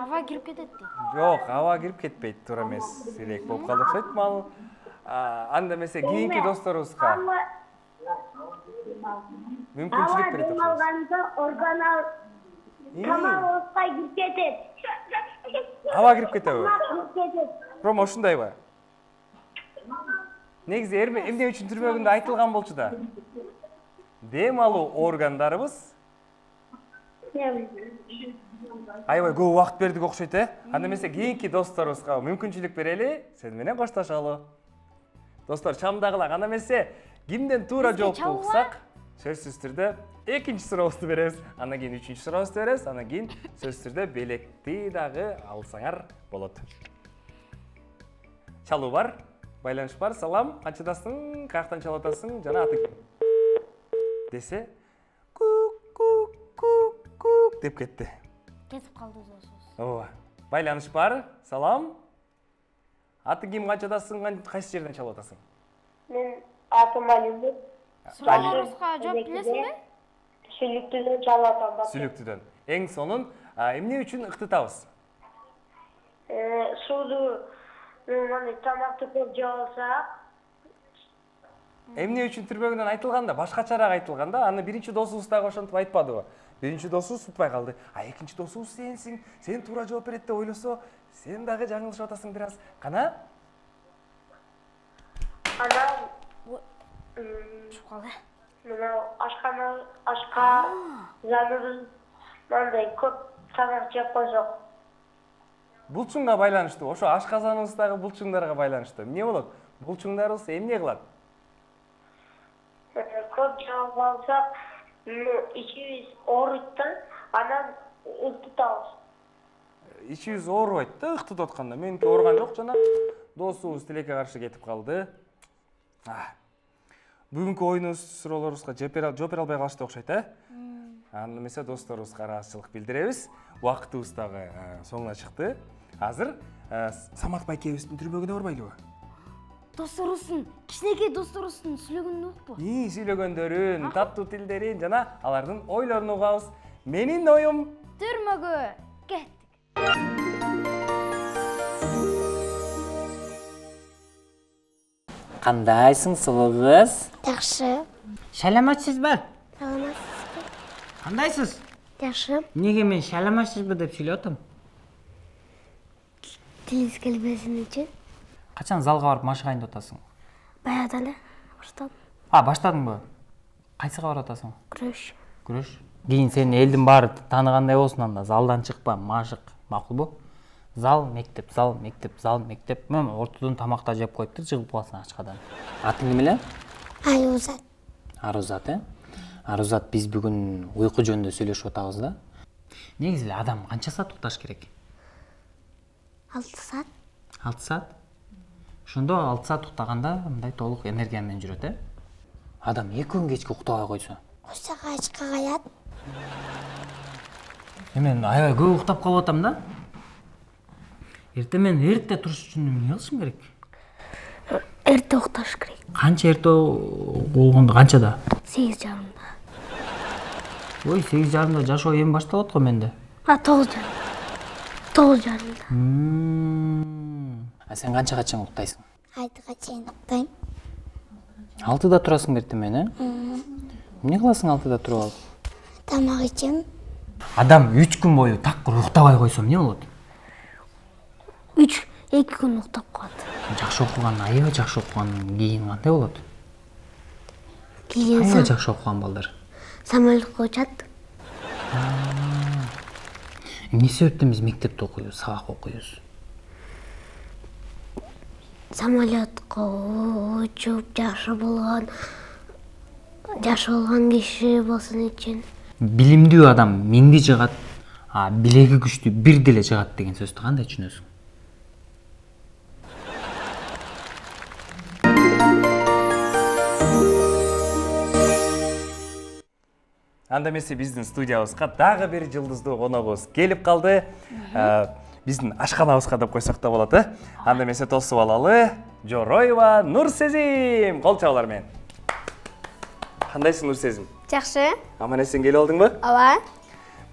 Аба кирип кетет дейт. Жок, аба кирип кетпейт, туура эмесирээк болуп калды окшойт. Мал анда эмесе кийинки досторубузга мүмкүнчүлүк берет окшойт. Алганда органал тамагыбызга кирип кетет. Аба кирип кетеби? Рома, ушундайбы? Негизи эмне үчүн түрмөгүндө айтылган болчу да. Дем алуу органдарыбыз аябай көп убакыт бердик окшойт, Анда эмесе кийинки досторубузга мүмкүнчүлүк берели, сен менен коштошолу. Достор, чамдагыла. Анда эмесе кимден туура жоопту уксак, сөзсүз түрдө экинчи сурообузду беребиз. Андан кийин үчүнчү сурообузду беребиз. Андан кийин сөзсүз түрдө белекти дагы алсаңар болот. Чалуу бар, байланыш бар. Салам, канчадасың, каяктан чалып атасың, жана атың десе, кук деп кетти. Кетип калды сөзсүз. Ооба. Байланыш бар. Салам. Атың ким, канчадасың, кайсы жерден чалып атасың? Мен атым Алимбек. Суроолоруңузга жооп билесиңби? Сүлүктүдөн чалатам. Сүлүктүдөн. Эң сонун эмне үчүн ыктытабыз? Сууду тамакты көп жеп алсак. Эмне үчүн түрбөгүнөн айтылганда, башкачараак айtылганда, аны биринчи досубуз дагы ошентип айтпадыбы? Биринчи досубуз утпай калды. Экинчи досубуз сенсиң, сен туура жооп берет деп ойлосо, сен дагы жаңылышып атасың бир аз. Кана? Анан мына ашка заныбыз мындай көп тамак жеп койсок. Булчуңга байланыштуу. Ошо ашказаныбыздагы булчуңдарга байланыштуу. Эмне болот? Булчуңдарыбыз эмне кылат? Көп жеп алсак, ичибиз ооруйт да, анан ыктытабыз. Ичибиз оорубайт да ыктытып атканда. Меники ооруган жок жана досубуз тилекке каршы кетип калды. Бүгүнкү оюнубуз суроолорубузга жооп бере албай калышты окшойт, Анда эмесе досторубузга ыраазычылык билдиребиз. Убактыбыз дагы соңуна чыкты. Азыр Самат байкебиздин түрбөгүнө барбайлыбы? Досторубуздун, кичинекей досторубуздун сүйлөгөнүн угуппу? Сүйлөгөндөрүн, таттуу тилдерин жана алардын ойлорун угабыз. Менин оюм Түрмөгү кеттик. Кандайсың, сулуу кыз? Жакшы. Саламатсызбы? Саламатсызбы? Кандайсыз? Жакшы. Эмнеге мен саламатсызбы деп сүйлөп атам? Тилиңиз келбесин үчүн. Качан залга барып машыгайын деп атасың? Баягыда эле баштадым. Баштадыңбы? Кайсыга барып атасың? Күрөш. Күрөш. Кийин сени элдин баары тааныгандай болсун анда, залдан чыкпа, машык. Макулбу? Зал, мектеп, зал, мектеп, зал, мектеп. Мен ортодон тамакта жеп коюптур, жыгылып каласың ачкадан. Атың неме эле? Арузат. Арузат, Арузат, биз бүгүн уйку жөнүндө сүйлөшүп атабыз да. Негизи эле адам канча саат укташ керек? 6 саат. 6 саат? Ошондо 6 саат уктаганда мындай толук энергия менен жүрөт, Адам 2 күн кечке уктабай койсо. Койсо качка каят. Мен аябай көп уктап калып атам да. Эрте мен эрте туруш үчүн эмне кылышым керек? Эрте укташ керек. Канча эрте болгондо, канчада? 8:30. Ой, 8:30 жашоо эми башталат го менде. 9:30. 9:30. Сен канчага чейин уктайсың? 6-га чейин уктайм. 6-да турасың эртемен, Эмне кыласың 6-да туруп алып? Тамак ичем. Адам 3 күн бою такыр уктабай койсо эмне болот? 2 күн уктап калат. Жакшы окуган, аябай жакшы окугандан кийин кандай болот? Кийин аябай жакшы окуган балдар. Самолетко учат. Эмне себептен биз мектепте окуйбуз, сабак окуйбуз? Самолетко учуп жакшы болгон киши болсун үчүн. Билимдүү адам минди жыгат, билеги күчтүү бир деле жыгат деген сөздү кандай түшүнөсүң? Анда эмесе биздин студиябызга дагы бир жылдыздуу коногубуз келип калды. Биздин ашканабызга деп койсок да болот, Анда эмесе тосуп алалы. Жороева Нурсезим, кол чабуулар менен. Кандайсың Нурсезим? Жакшы. Аман-эсен келип алдыңбы? Ооба.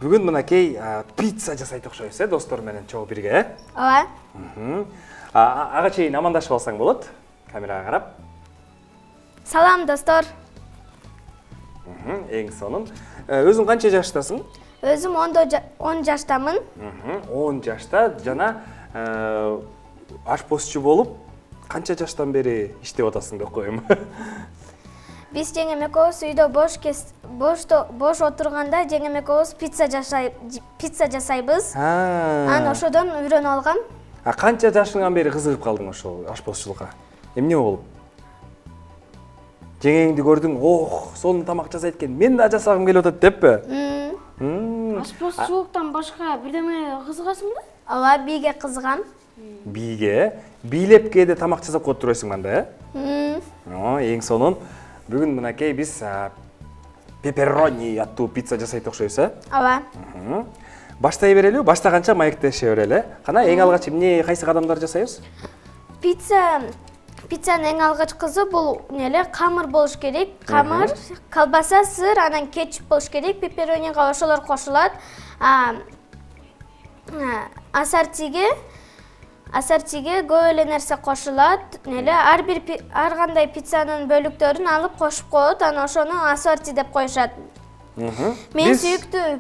Бүгүн мынакей пицца жасайт окшойбуз, достор менен чогуу бирге, Ооба. Ага чейин амандашып алсаң болот, камерага карап. Салам, достор. Эң сонун. Өзүң канча жаштасың? Өзүм 10 жаштамын. 10 жашта жана ашпозчу болуп канча жаштан бери иштеп атасың деп коем. Биз жеңем экөөбүз үйдө бош отурганда жеңем экөөбүз пицца жасайбыз. Анан ошодон үйрөнүп алгам. Канча жашыңан бери кызыгып калдың ошол ашпозчулукка? Эмне болуп? Жеңеңди көрдүң, сонун тамак жасайт экен, мен да жасагым келип атат деппи? Ашпозчулуктан башка бирдеме кызыгасыңбы? Ооба, бийге кызыгам. Бийге? Бийлеп кээде тамак жасап коюп турбайсың анда, Эң сонун. Бүгүн мынакей биз пепперони аттуу пицца жасайт окшойбуз, Ооба. Баштай берелиби? Баштаганча маектеше берели. Кана эң алгач кайсы кадамдар жасайбыз? Пицца пиццанын эң алгачкысы бул камыр болуш керек. Камыр, колбаса, сыр, анан кетчуп болуш керек. Пепперонига ошолор кошулат. Ассортиге көп эле нерсе кошулат. Ар кандай пиццанын бөлүктөрүн алып кошуп коет, анан ошону ассорти деп коюшат. Мен сүйүктүү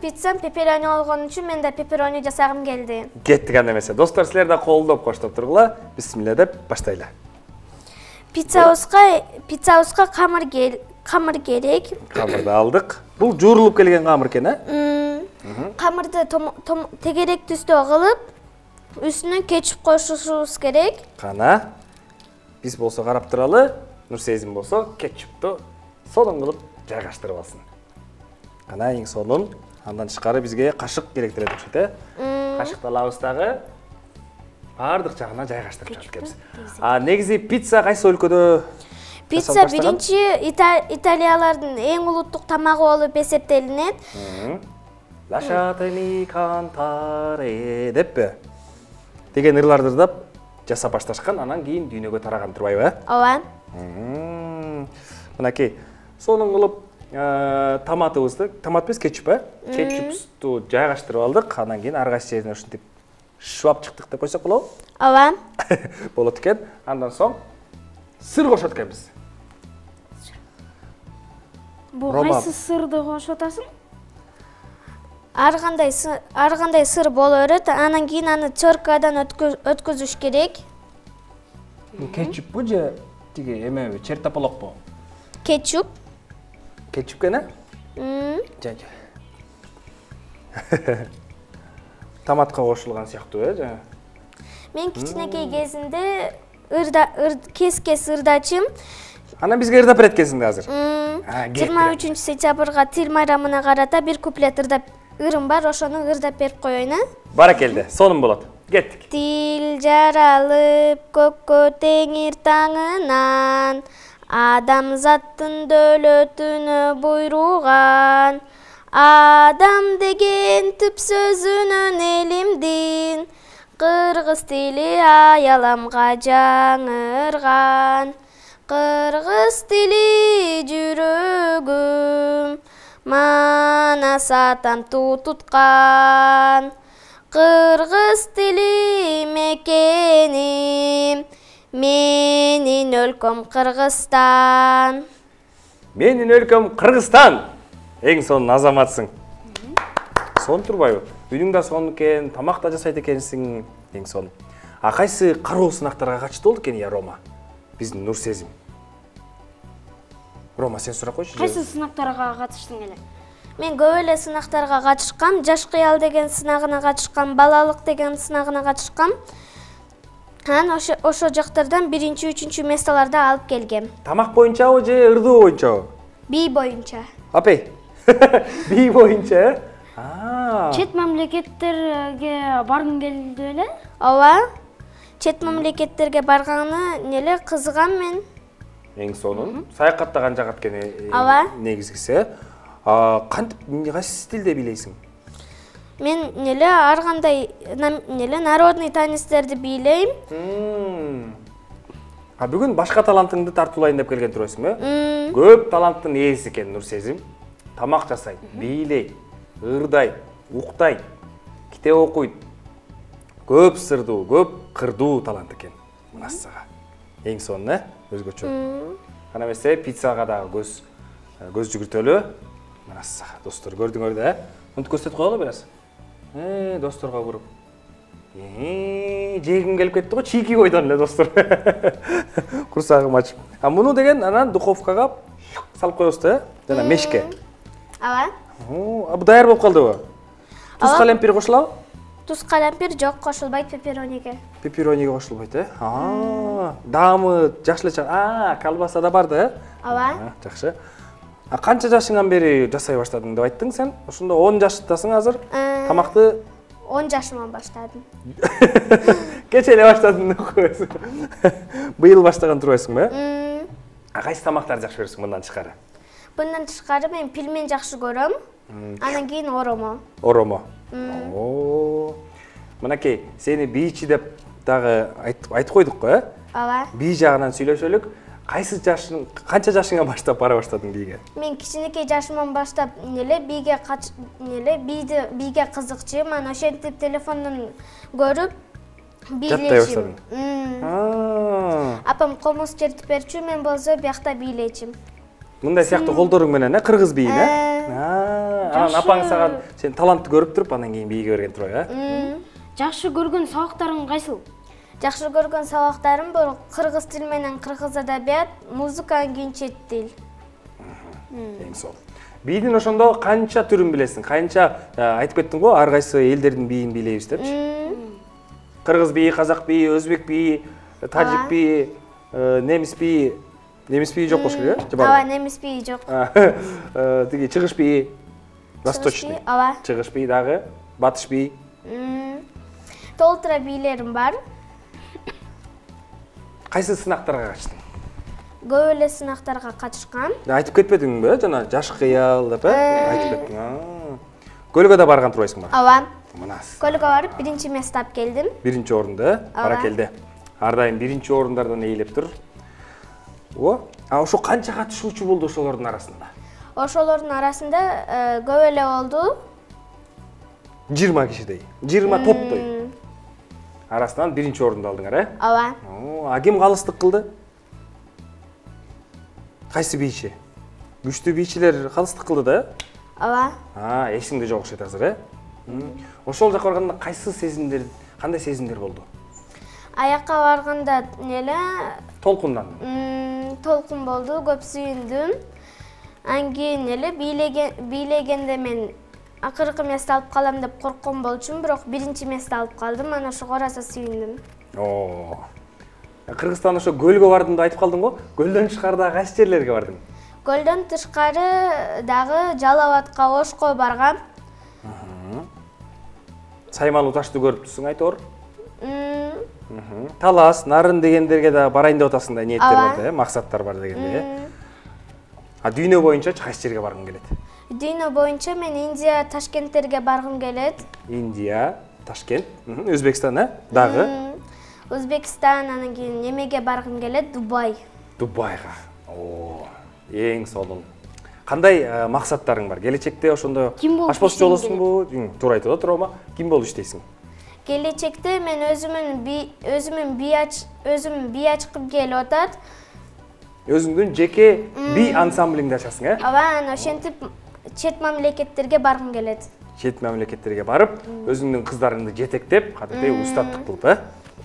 пиццам пепперони болгон үчүн мен да пепперони жасагым келди. Кеттик анда эмесе. Достор, силер да колдоп коштоп тургула. Бисмилля деп баштайлы. Пиццабызга камыр керек. Камырды алдык. Бул жуурулуп келген камыр экен, Камырды тегерек түстө кылып, үстүнө кетчуп кошушубуз керек. Кана. Биз болсо карап туралы, Нурсезим болсо кетчупту сонун кылып жайгаштырып алсын. Кана эң сонун. Андан тышкары бизге кашык керектелет окшойт, Кашыкты алабыз дагы. Бардык жагына жайгаштырып жатып келебиз. Негизи пицца кайсы өлкөдө? Пицца биринчи Италиялардын эң улуттук тамагы болуп эсептелинет. Lasciatemi cantare деппи? Деген ырларды ырдап жасап башташкан, анан кийин дүйнөгө тараган турбайбы? Ооба. Мынакей, сонун кылып томатыбызды, томат эмес, кетчуп, кетчупту жайгаштырып алдык, анан кийин ар кайсы жерине ушинтип швап чыктык деп койсок болобу? Ооба. Болот экен. Андан соң сыр кошот экенбиз. Бул кайсы сырды кошуп атасың? Ар кандай сыр боло берет, анан кийин аны теркадан өткөзүш керек. Кетчуппу же тиги эмеби, чертополокпу? Кетчуп. Кетчуп экен, Жа. Томатка кошулган сыяктуу, жа. Мен кичинекей кезинде кес ырдачым. Анан бизге ырдап берет экенсиң азыр. 23-сентябрга тил майрамына карата бир куплет ырым бар, ошону ырдап берип коеюн, Баракелде, сонун болот. Кеттик. Тил жаралып көккө теңир таңынан, адамзаттын дөөлөтүнө буйруган. Адам деген түп сөзүнөн элимдин, кыргыз тили аяламга жаңырган. Кыргыз тили жүрөгүм, манас атам туу туткан. Кыргыз тили мекеним, менин өлкөм Кыргызстан. Менин өлкөм Кыргызстан. Эң сонун азаматсың. Сон турбайбы? Үйүң да сонун экен, тамак да жасайт экенсиң, эң сонун. Кайсы кароо сынактарга катышты болду экен Рома? Биздин Нурсезим. Рома, сен сурап койчу. Кайсы сынактарга катыштың эле? Мен көп эле сынактарга катышкам. Жаш кыял деген сынагына катышкам, балалык деген сынагына катышкам. Анан ошо жактардан 1-3 местолорду алып келгем. Тамак боюнчабы же ырдоо боюнчабы? Бий боюнча. Апей. Бий боюнча, Чет мамлекеттерге баргың келди беле? Ооба. Чет мамлекеттерге барганы кызыгам мен. Эң сонун. Саякаттаган жагат экен негизгиси. Кантип кайсы стилде бийлейсиң? Мен ар кандай народный танецтерди бийлейм. Бүгүн башка талантыңды тартуулайын деп келген турасың, Көп таланттын ээси экен Нурсезим. Тамак жасайт, бийлейт, ырдайт, уктайт, китеп окуйт. Көп сырдуу, көп кырдуу талант экен. Массага. Эң сонун, өзгөчө. Кана эмесе пиццага дагы көз жүгүртөлү. Массага, достор, көрдүңөр да, Мынтип көрсөтүп коелу бир аз. Досторго буруп. Жегим келип кетти го, чийки койдон эле, достор. Курсагым ачып. Муну деген анан духовкага салып коебуз да, жана мешке. Ооба. Бу даяр болуп калдыбы? Туз калемпир кошулабы? Туз калемпир жок, кошулбайт пепперониге. Пепперониге кошулбайт, Даамы жакшы эле колбаса да бар да, Ооба. Жакшы. Канча жашыңан бери жасай баштадың деп айттың сен? Ошондо 10 жаштасың азыр. Тамакты 10 жашыман баштадым. Кече эле баштадың деп коесуң. Быйыл баштаган турбайсыңбы? Кайсы тамактарды жакшы көрөсүң мындан тышкары? Мындан тышкары мен пельмен жакшы көрөм. Анан кийин оромо. Оромо. Мынакей, сени бийчи деп дагы айтып койдук го, Ооба. Бий жагынан сүйлөшөлүк. Канча жашыңа баштап бара баштадың бийге? Мен кичинекей жашымдан баштап бийге кызыкчумун. Анан ошентип телефондон көрүп бийлечим. Апам комуз чертип берчү, мен болсо биякта бийлечим. Мындай сыяктуу колдоруң менен, кыргыз бийин, Анан апаң сага сен талантты көрүп туруп, анан кийин бийге берген турбайбы, Жакшы көргөн сабактарың кайсыл? Жакшы көргөн сабактарым бул кыргыз тил менен кыргыз адабият, музыка, кийин чет тил. Эң сол. Бийдин ошондо канча түрүн билесиң? Канча айтып кеттиң го, ар кайсы элдердин бийин бийлейбиз депчи. Кыргыз бийи, казак бийи, өзбек бийи, тажик бийи, немис бийи. Немис бийи жок болуш керек, Ооба, немис бийи жок. Тиги чыгыш бийи, восточный. Ооба. Чыгыш бийи дагы, батыш бийи. Толтура бийлерим бар. Кайсы сынактарга катыштың? Көп эле сынактарга катышкам. Айтып кетпедиңби, жана жаш кыял деп, айтып кеттиң. Көлгө да барган турбайсыңбы? Ооба. Мынас. Көлгө барып, биринчи место алып келдим. Биринчи орунду, баракелде. Ар дайым биринчи орундардан ээлеп тур. Ошо канча катышуучу болду ошолордун арасында? Ошолордун арасында көп эле болду. 20 кишидей, 20 топтой. Арасынан биринчи орунду алдыңар, Ооба. Ким калыстык кылды? Кайсы бийчи? Күчтүү бийчилер калыстык кылды да? Ооба. Эсиңде жок окшойт азыр, Ошол жака барганда кайсы сезимдер, кандай сезимдер болду? Аякка барганда толкун болду, көп сүйүндүм. Анан кийин бийлегенде мен акыркы место алып калам деп корккон болчумун, бирок биринчи место алып калдым. Анан ошого араса сүйүндүм. Кыргызстан ошо көлгө бардым деп айтып калдың го. Көлдөн тышкары дагы кайсы жерлерге бардың? Көлдөн тышкары дагы Жалал Абадка, Ошко баргам. Саймалуу ташты көрүп турсуң айтор. Талас, Нарын дегендерге да барайын деп атасың да, ниеттер бар да, максаттар бар дегенде. Дүйнө боюнча кайсы жерге баргың келет? Дүйнө боюнча мен Индия, Ташкенттерге баргым келет. Индия, Ташкент, Өзбекстан, дагы? Өзбекстан, анан кийин немеге баргым келет? Дубай. Дубайга. Эң сонун. Кандай максаттарың бар? Келечекте ошондо ашпоз болосуңбу? Туура айтып отурума. Ким болуп иштейсиң? Келечекте мен өзүмүн бий ачкым келип атат. Өзүңдүн жеке бий ансамблиңди ачасың, Ооба, анан ошентип чет мамлекеттерге баргым келет. Чет мамлекеттерге барып, өзүңдүн кыздарыңды жетектеп, кадимдей устаттык кылып,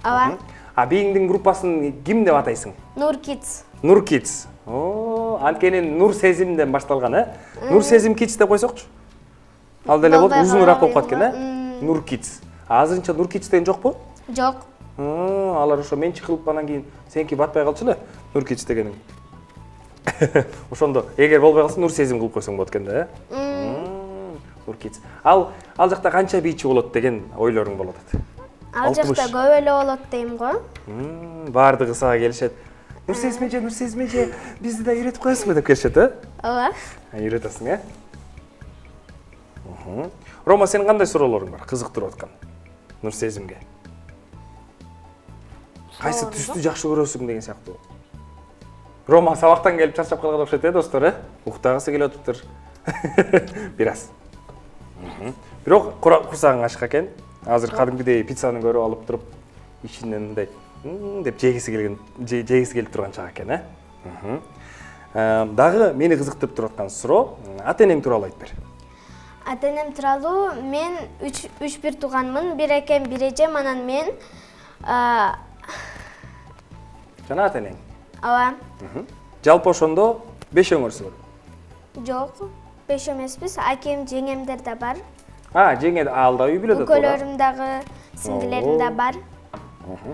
Ооба. Бийиңдин группасын ким деп атайсың? Нур Kids. Нур Kids. Анткени Нур Сезимден башталган, Нур Сезим Kids деп койсокчу. Ал деле болуп узунураак болуп каткан, Нур Kids. Азырынча Нур Kids деген жокпу? Жок. Алар ошо менчик кылып анан кийин сеники батпай калчу эле, Нур Kids дегениң. Ошондо эгер болбой калса Нур Сезим кылып койсоң болот экен да, Нур Kids. Ал жакта канча бийчи болот деген ойлоруң болот атат? Ал жакта көп эле болот дейм го. Бардыгы сага келишет. Нур Сезим эже, бизди да үйрөтүп коесуңбу деп келишет, Ооба. Үйрөтөсүң, Рома, сенин кандай суроолоруң бар? Кызыктырып аткан Нур Сезимге. Кайсы түстү жакшы көрөсүң деген сыяктуу. Рома сабактан келип чарчап калган окшойт, достор, Уктагысы келип атыптыр. Бир аз. Бирок курсагың ачык экен. Азыр кадимгидей пиццаны көрүп алып туруп, ичинен мындай деп жегиси келип турган чак экен, Дагы мени кызыктырып туруп аткан суроо, ата-энең тууралуу айтып бер. Ата-энем тууралуу мен 3 бир тууганмын, бир экем, бир эжем, анан мен жана ата-энең. Ооба. Жалпы ошондо 5 өңөрсү бар. Жок, 5 эмеспиз, акем, жеңемдер да бар. Жеңе ал да үй бүлөдө турат. Үкөлөрүм дагы, сиңдилерим да бар.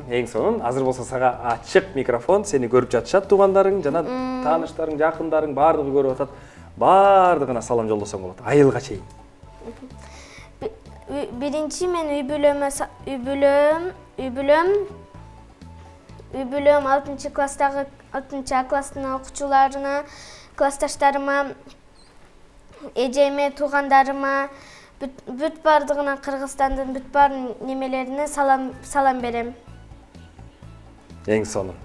Эң сонун, азыр болсо сага ачык микрофон, сени көрүп жатышат туугандарың, жана тааныштарың, жакындарың баардыгы көрүп атат. Баардыгына салам жолдосоң болот, айылга чейин. Биринчи мен үй бүлөм 6 класстагы 6 А класстын окуучуларына, классташтарыма, эжеме, туугандарыма, бүт баардыгына, Кыргызстандын бүт бар немелерине салам берем. Эң сонун.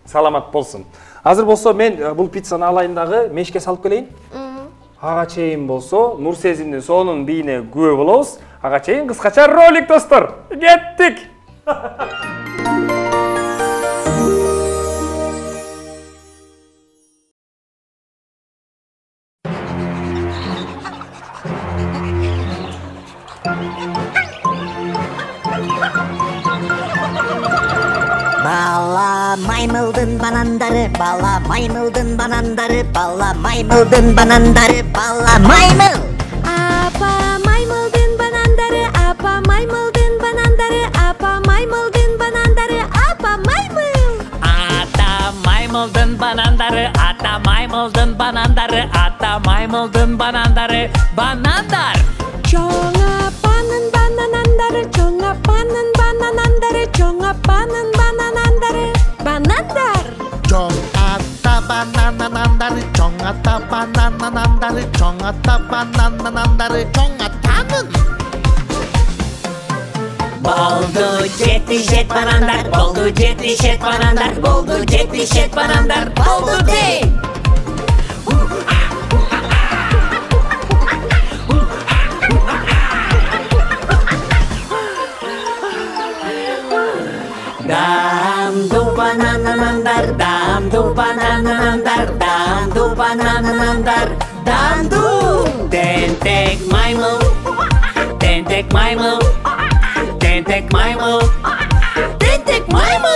Саламат болсун. Азыр болсо мен бул пиццаны алайын дагы мешке салып келейин. Ага чейин болсо Нур Сезимдин сонун бийине күбө болобуз. Ага чейин кыскача ролик достор. Кеттик. Бала маймылдын банандары, бала маймылдын банандары, бала маймылдын банандары, бала маймыл. Апа маймылдын банандары, апа маймылдын банандары, апа маймылдын банандары, апа маймыл. Ата маймылдын банандары, ата маймылдын банандары, ата маймылдын банандары, банандар. Чоң апанын бананандары, чоң апанын бананандары, чоң апанын бананандары, банандар. Чоң ата бананандары, чоң ата бананандары, чоң ата бананандары, чоң атанын. Болду жетишет банандар, болду жетишет банандар, болду жетишет банандар, болду дей. Damdu bananandar, damdu bananandar, damdu bananandar, damdu. Tentek maymıl, tentek maymıl, tentek maymıl, tentek maymıl.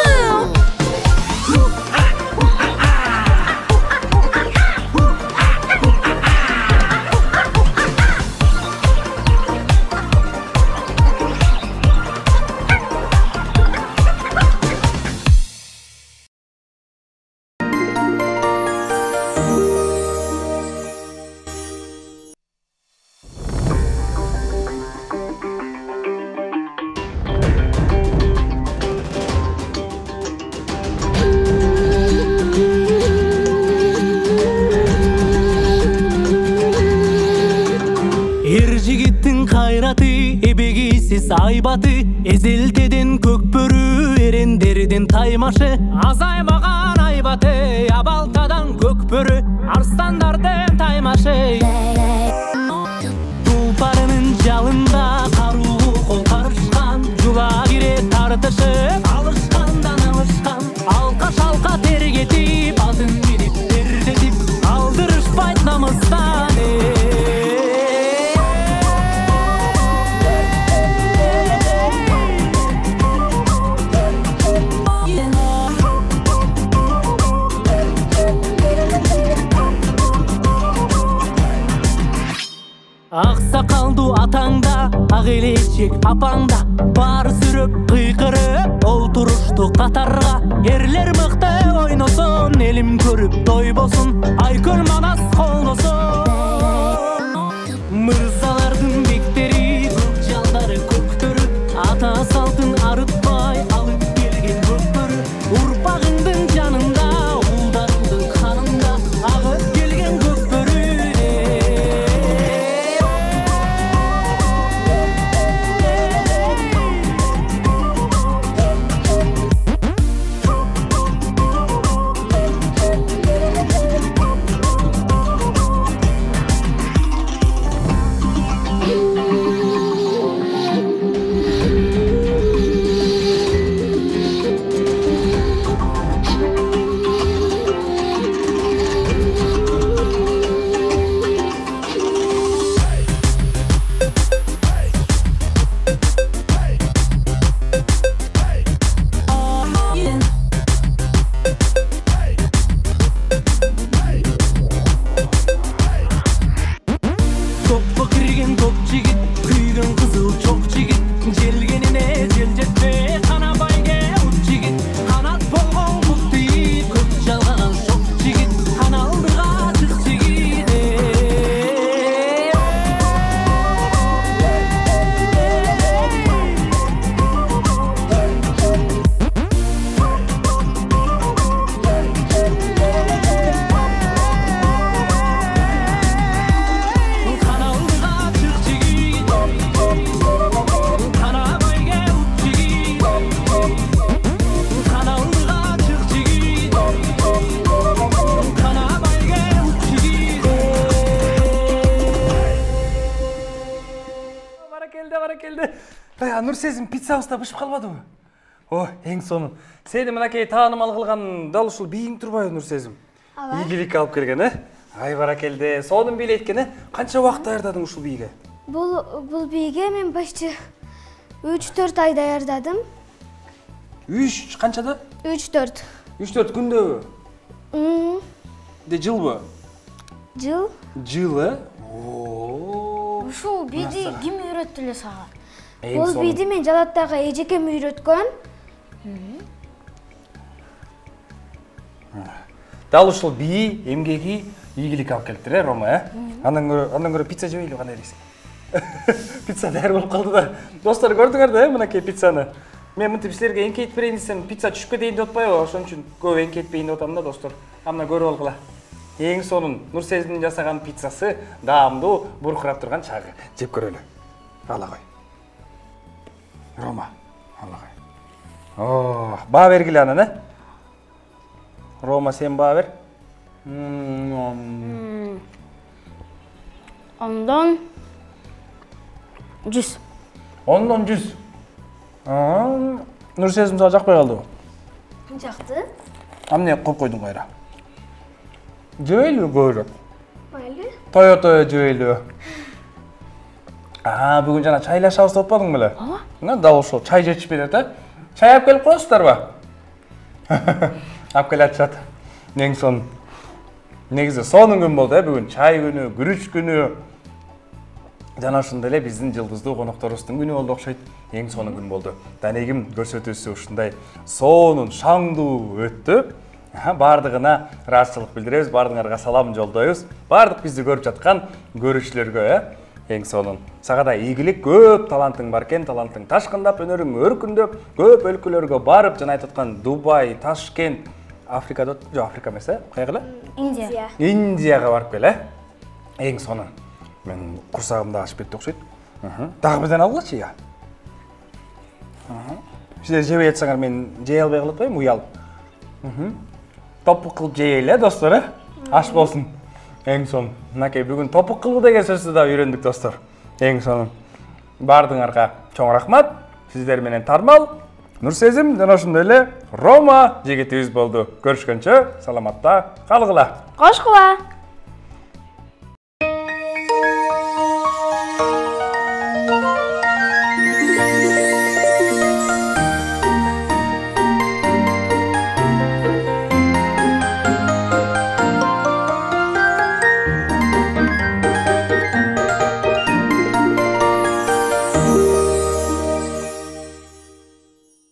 Айбаты эзелтеден көкбөрү эрендерден таймашы азаймаган айбаты абалтадан көкбөрү арстандардын таймашы тулпарынын жалында каруу кол карышкан жула кире тартышып алышкандан алышкан алка шалка тергетип атын минип тердетип алдырышпайт намыстан Аксакалду атаңда, ак элечек апаңда, бар сүрөп кыйкырып олтурушту катарга. Эрлер мыкты ойносун, элим көрүп тойбосун, айкөл манас колдосун. Мырзалардын бектери, көк жалдары көктөрү, ата салтын арытпай алып келген көкбөрү. Урпагыңдын жанында, улдарыңдын канында, агып келген көкбөрү. баракелде. Нурсезим, пиццабыз да бышып калбадыбы? О, эң сонун. Сени мынакей таанымал кылган дал ушул бийиң турбайбы, Нурсезим? Ийгилик алып келген, Ай баракелде. Сонун бийлейт экен, Канча убакыт даярдадың ушул бийге? Бул бийге мен почти 3-4 ай даярдадым. 3 канчада? 3-4. 3-4 күндөбү? Жылбы? Жыл. Жыл, Ушул бийди ким үйрөттү эле сага? Бул бийди мен Жалаттагы эжекем үйрөткөн. Дал ушул бии, эмгеги ийгилик алып келиптир, Рома, Андан көрө пицца жебейлиби, кандай дейсиң? Пицца даяр болуп калды да. Достор, көрдүңөр да, мынакей пиццаны. Мен мынтип силерге эңкейтип берейин десем, пицца түшүп кетейин деп атпайбы? Ошон үчүн көп эңкейтпейин деп атам да, достор. Амына көрүп алгыла. Эң сонун Нурсезимдин жасаган пиццасы, даамдуу, буркурап турган чагы. Жеп көрөлү. Ала кой. Рома, ала кой. Баа бергиле анан, Рома, сен баа бер. Ондон 100. Ондон 100. Нурсезим сага жакпай калдыбы? Жакты. Эмне коюп койдуң кайра? Жебейлиби көбүрөөк? Майли. Тое жебейлиби? Бүгүн жана чайлашабыз деп атпадың беле? Дал ошол чай жетишпей атат. Чай алып келип коесуздарбы? Алып келе атышат. Эң сонун. Негизи сонун күн болду, бүгүн чай күнү, күрүч күнү. Жана ошондой эле биздин жылдыздуу конокторубуздун күнү болду окшойт. Эң сонун күн болду. Данегим көрсөтүүсү ушундай сонун, шаңдуу өттү. Бардыгына ыраазычылык билдиребиз, бардыгыңарга салам жолдойбуз. Бардык бизди көрүп жаткан көрүүчүлөргө, эң сонун. Сага да ийгилик, көп талантың бар экен, талантың ташкындап, өнөрүң өркүндөп, көп өлкөлөргө барып, жана айтып аткан Дубай, Ташкент, Африкада, жок, Африка эмес, кайгыла? Индия. Индияга барып кел, Эң сонун. Мен курсагым да ачып кетти окшойт. Дагы бирден алгылачы, я. Силер жебей атсаңар мен жей албай калып атпайбымбы, уялып? Топук кылып жейели, достор, Аш болсун. Эң сонун. Мынакей бүгүн топук кылуу деген сөздү да үйрөндүк, достор. Эң сонун. Бардыгыңарга чоң рахмат. Сиздер менен Тармал, Нурсезим жана ошондой эле Рома жигитибиз болду. Көрүшкөнчө саламатта калгыла. Кошкула.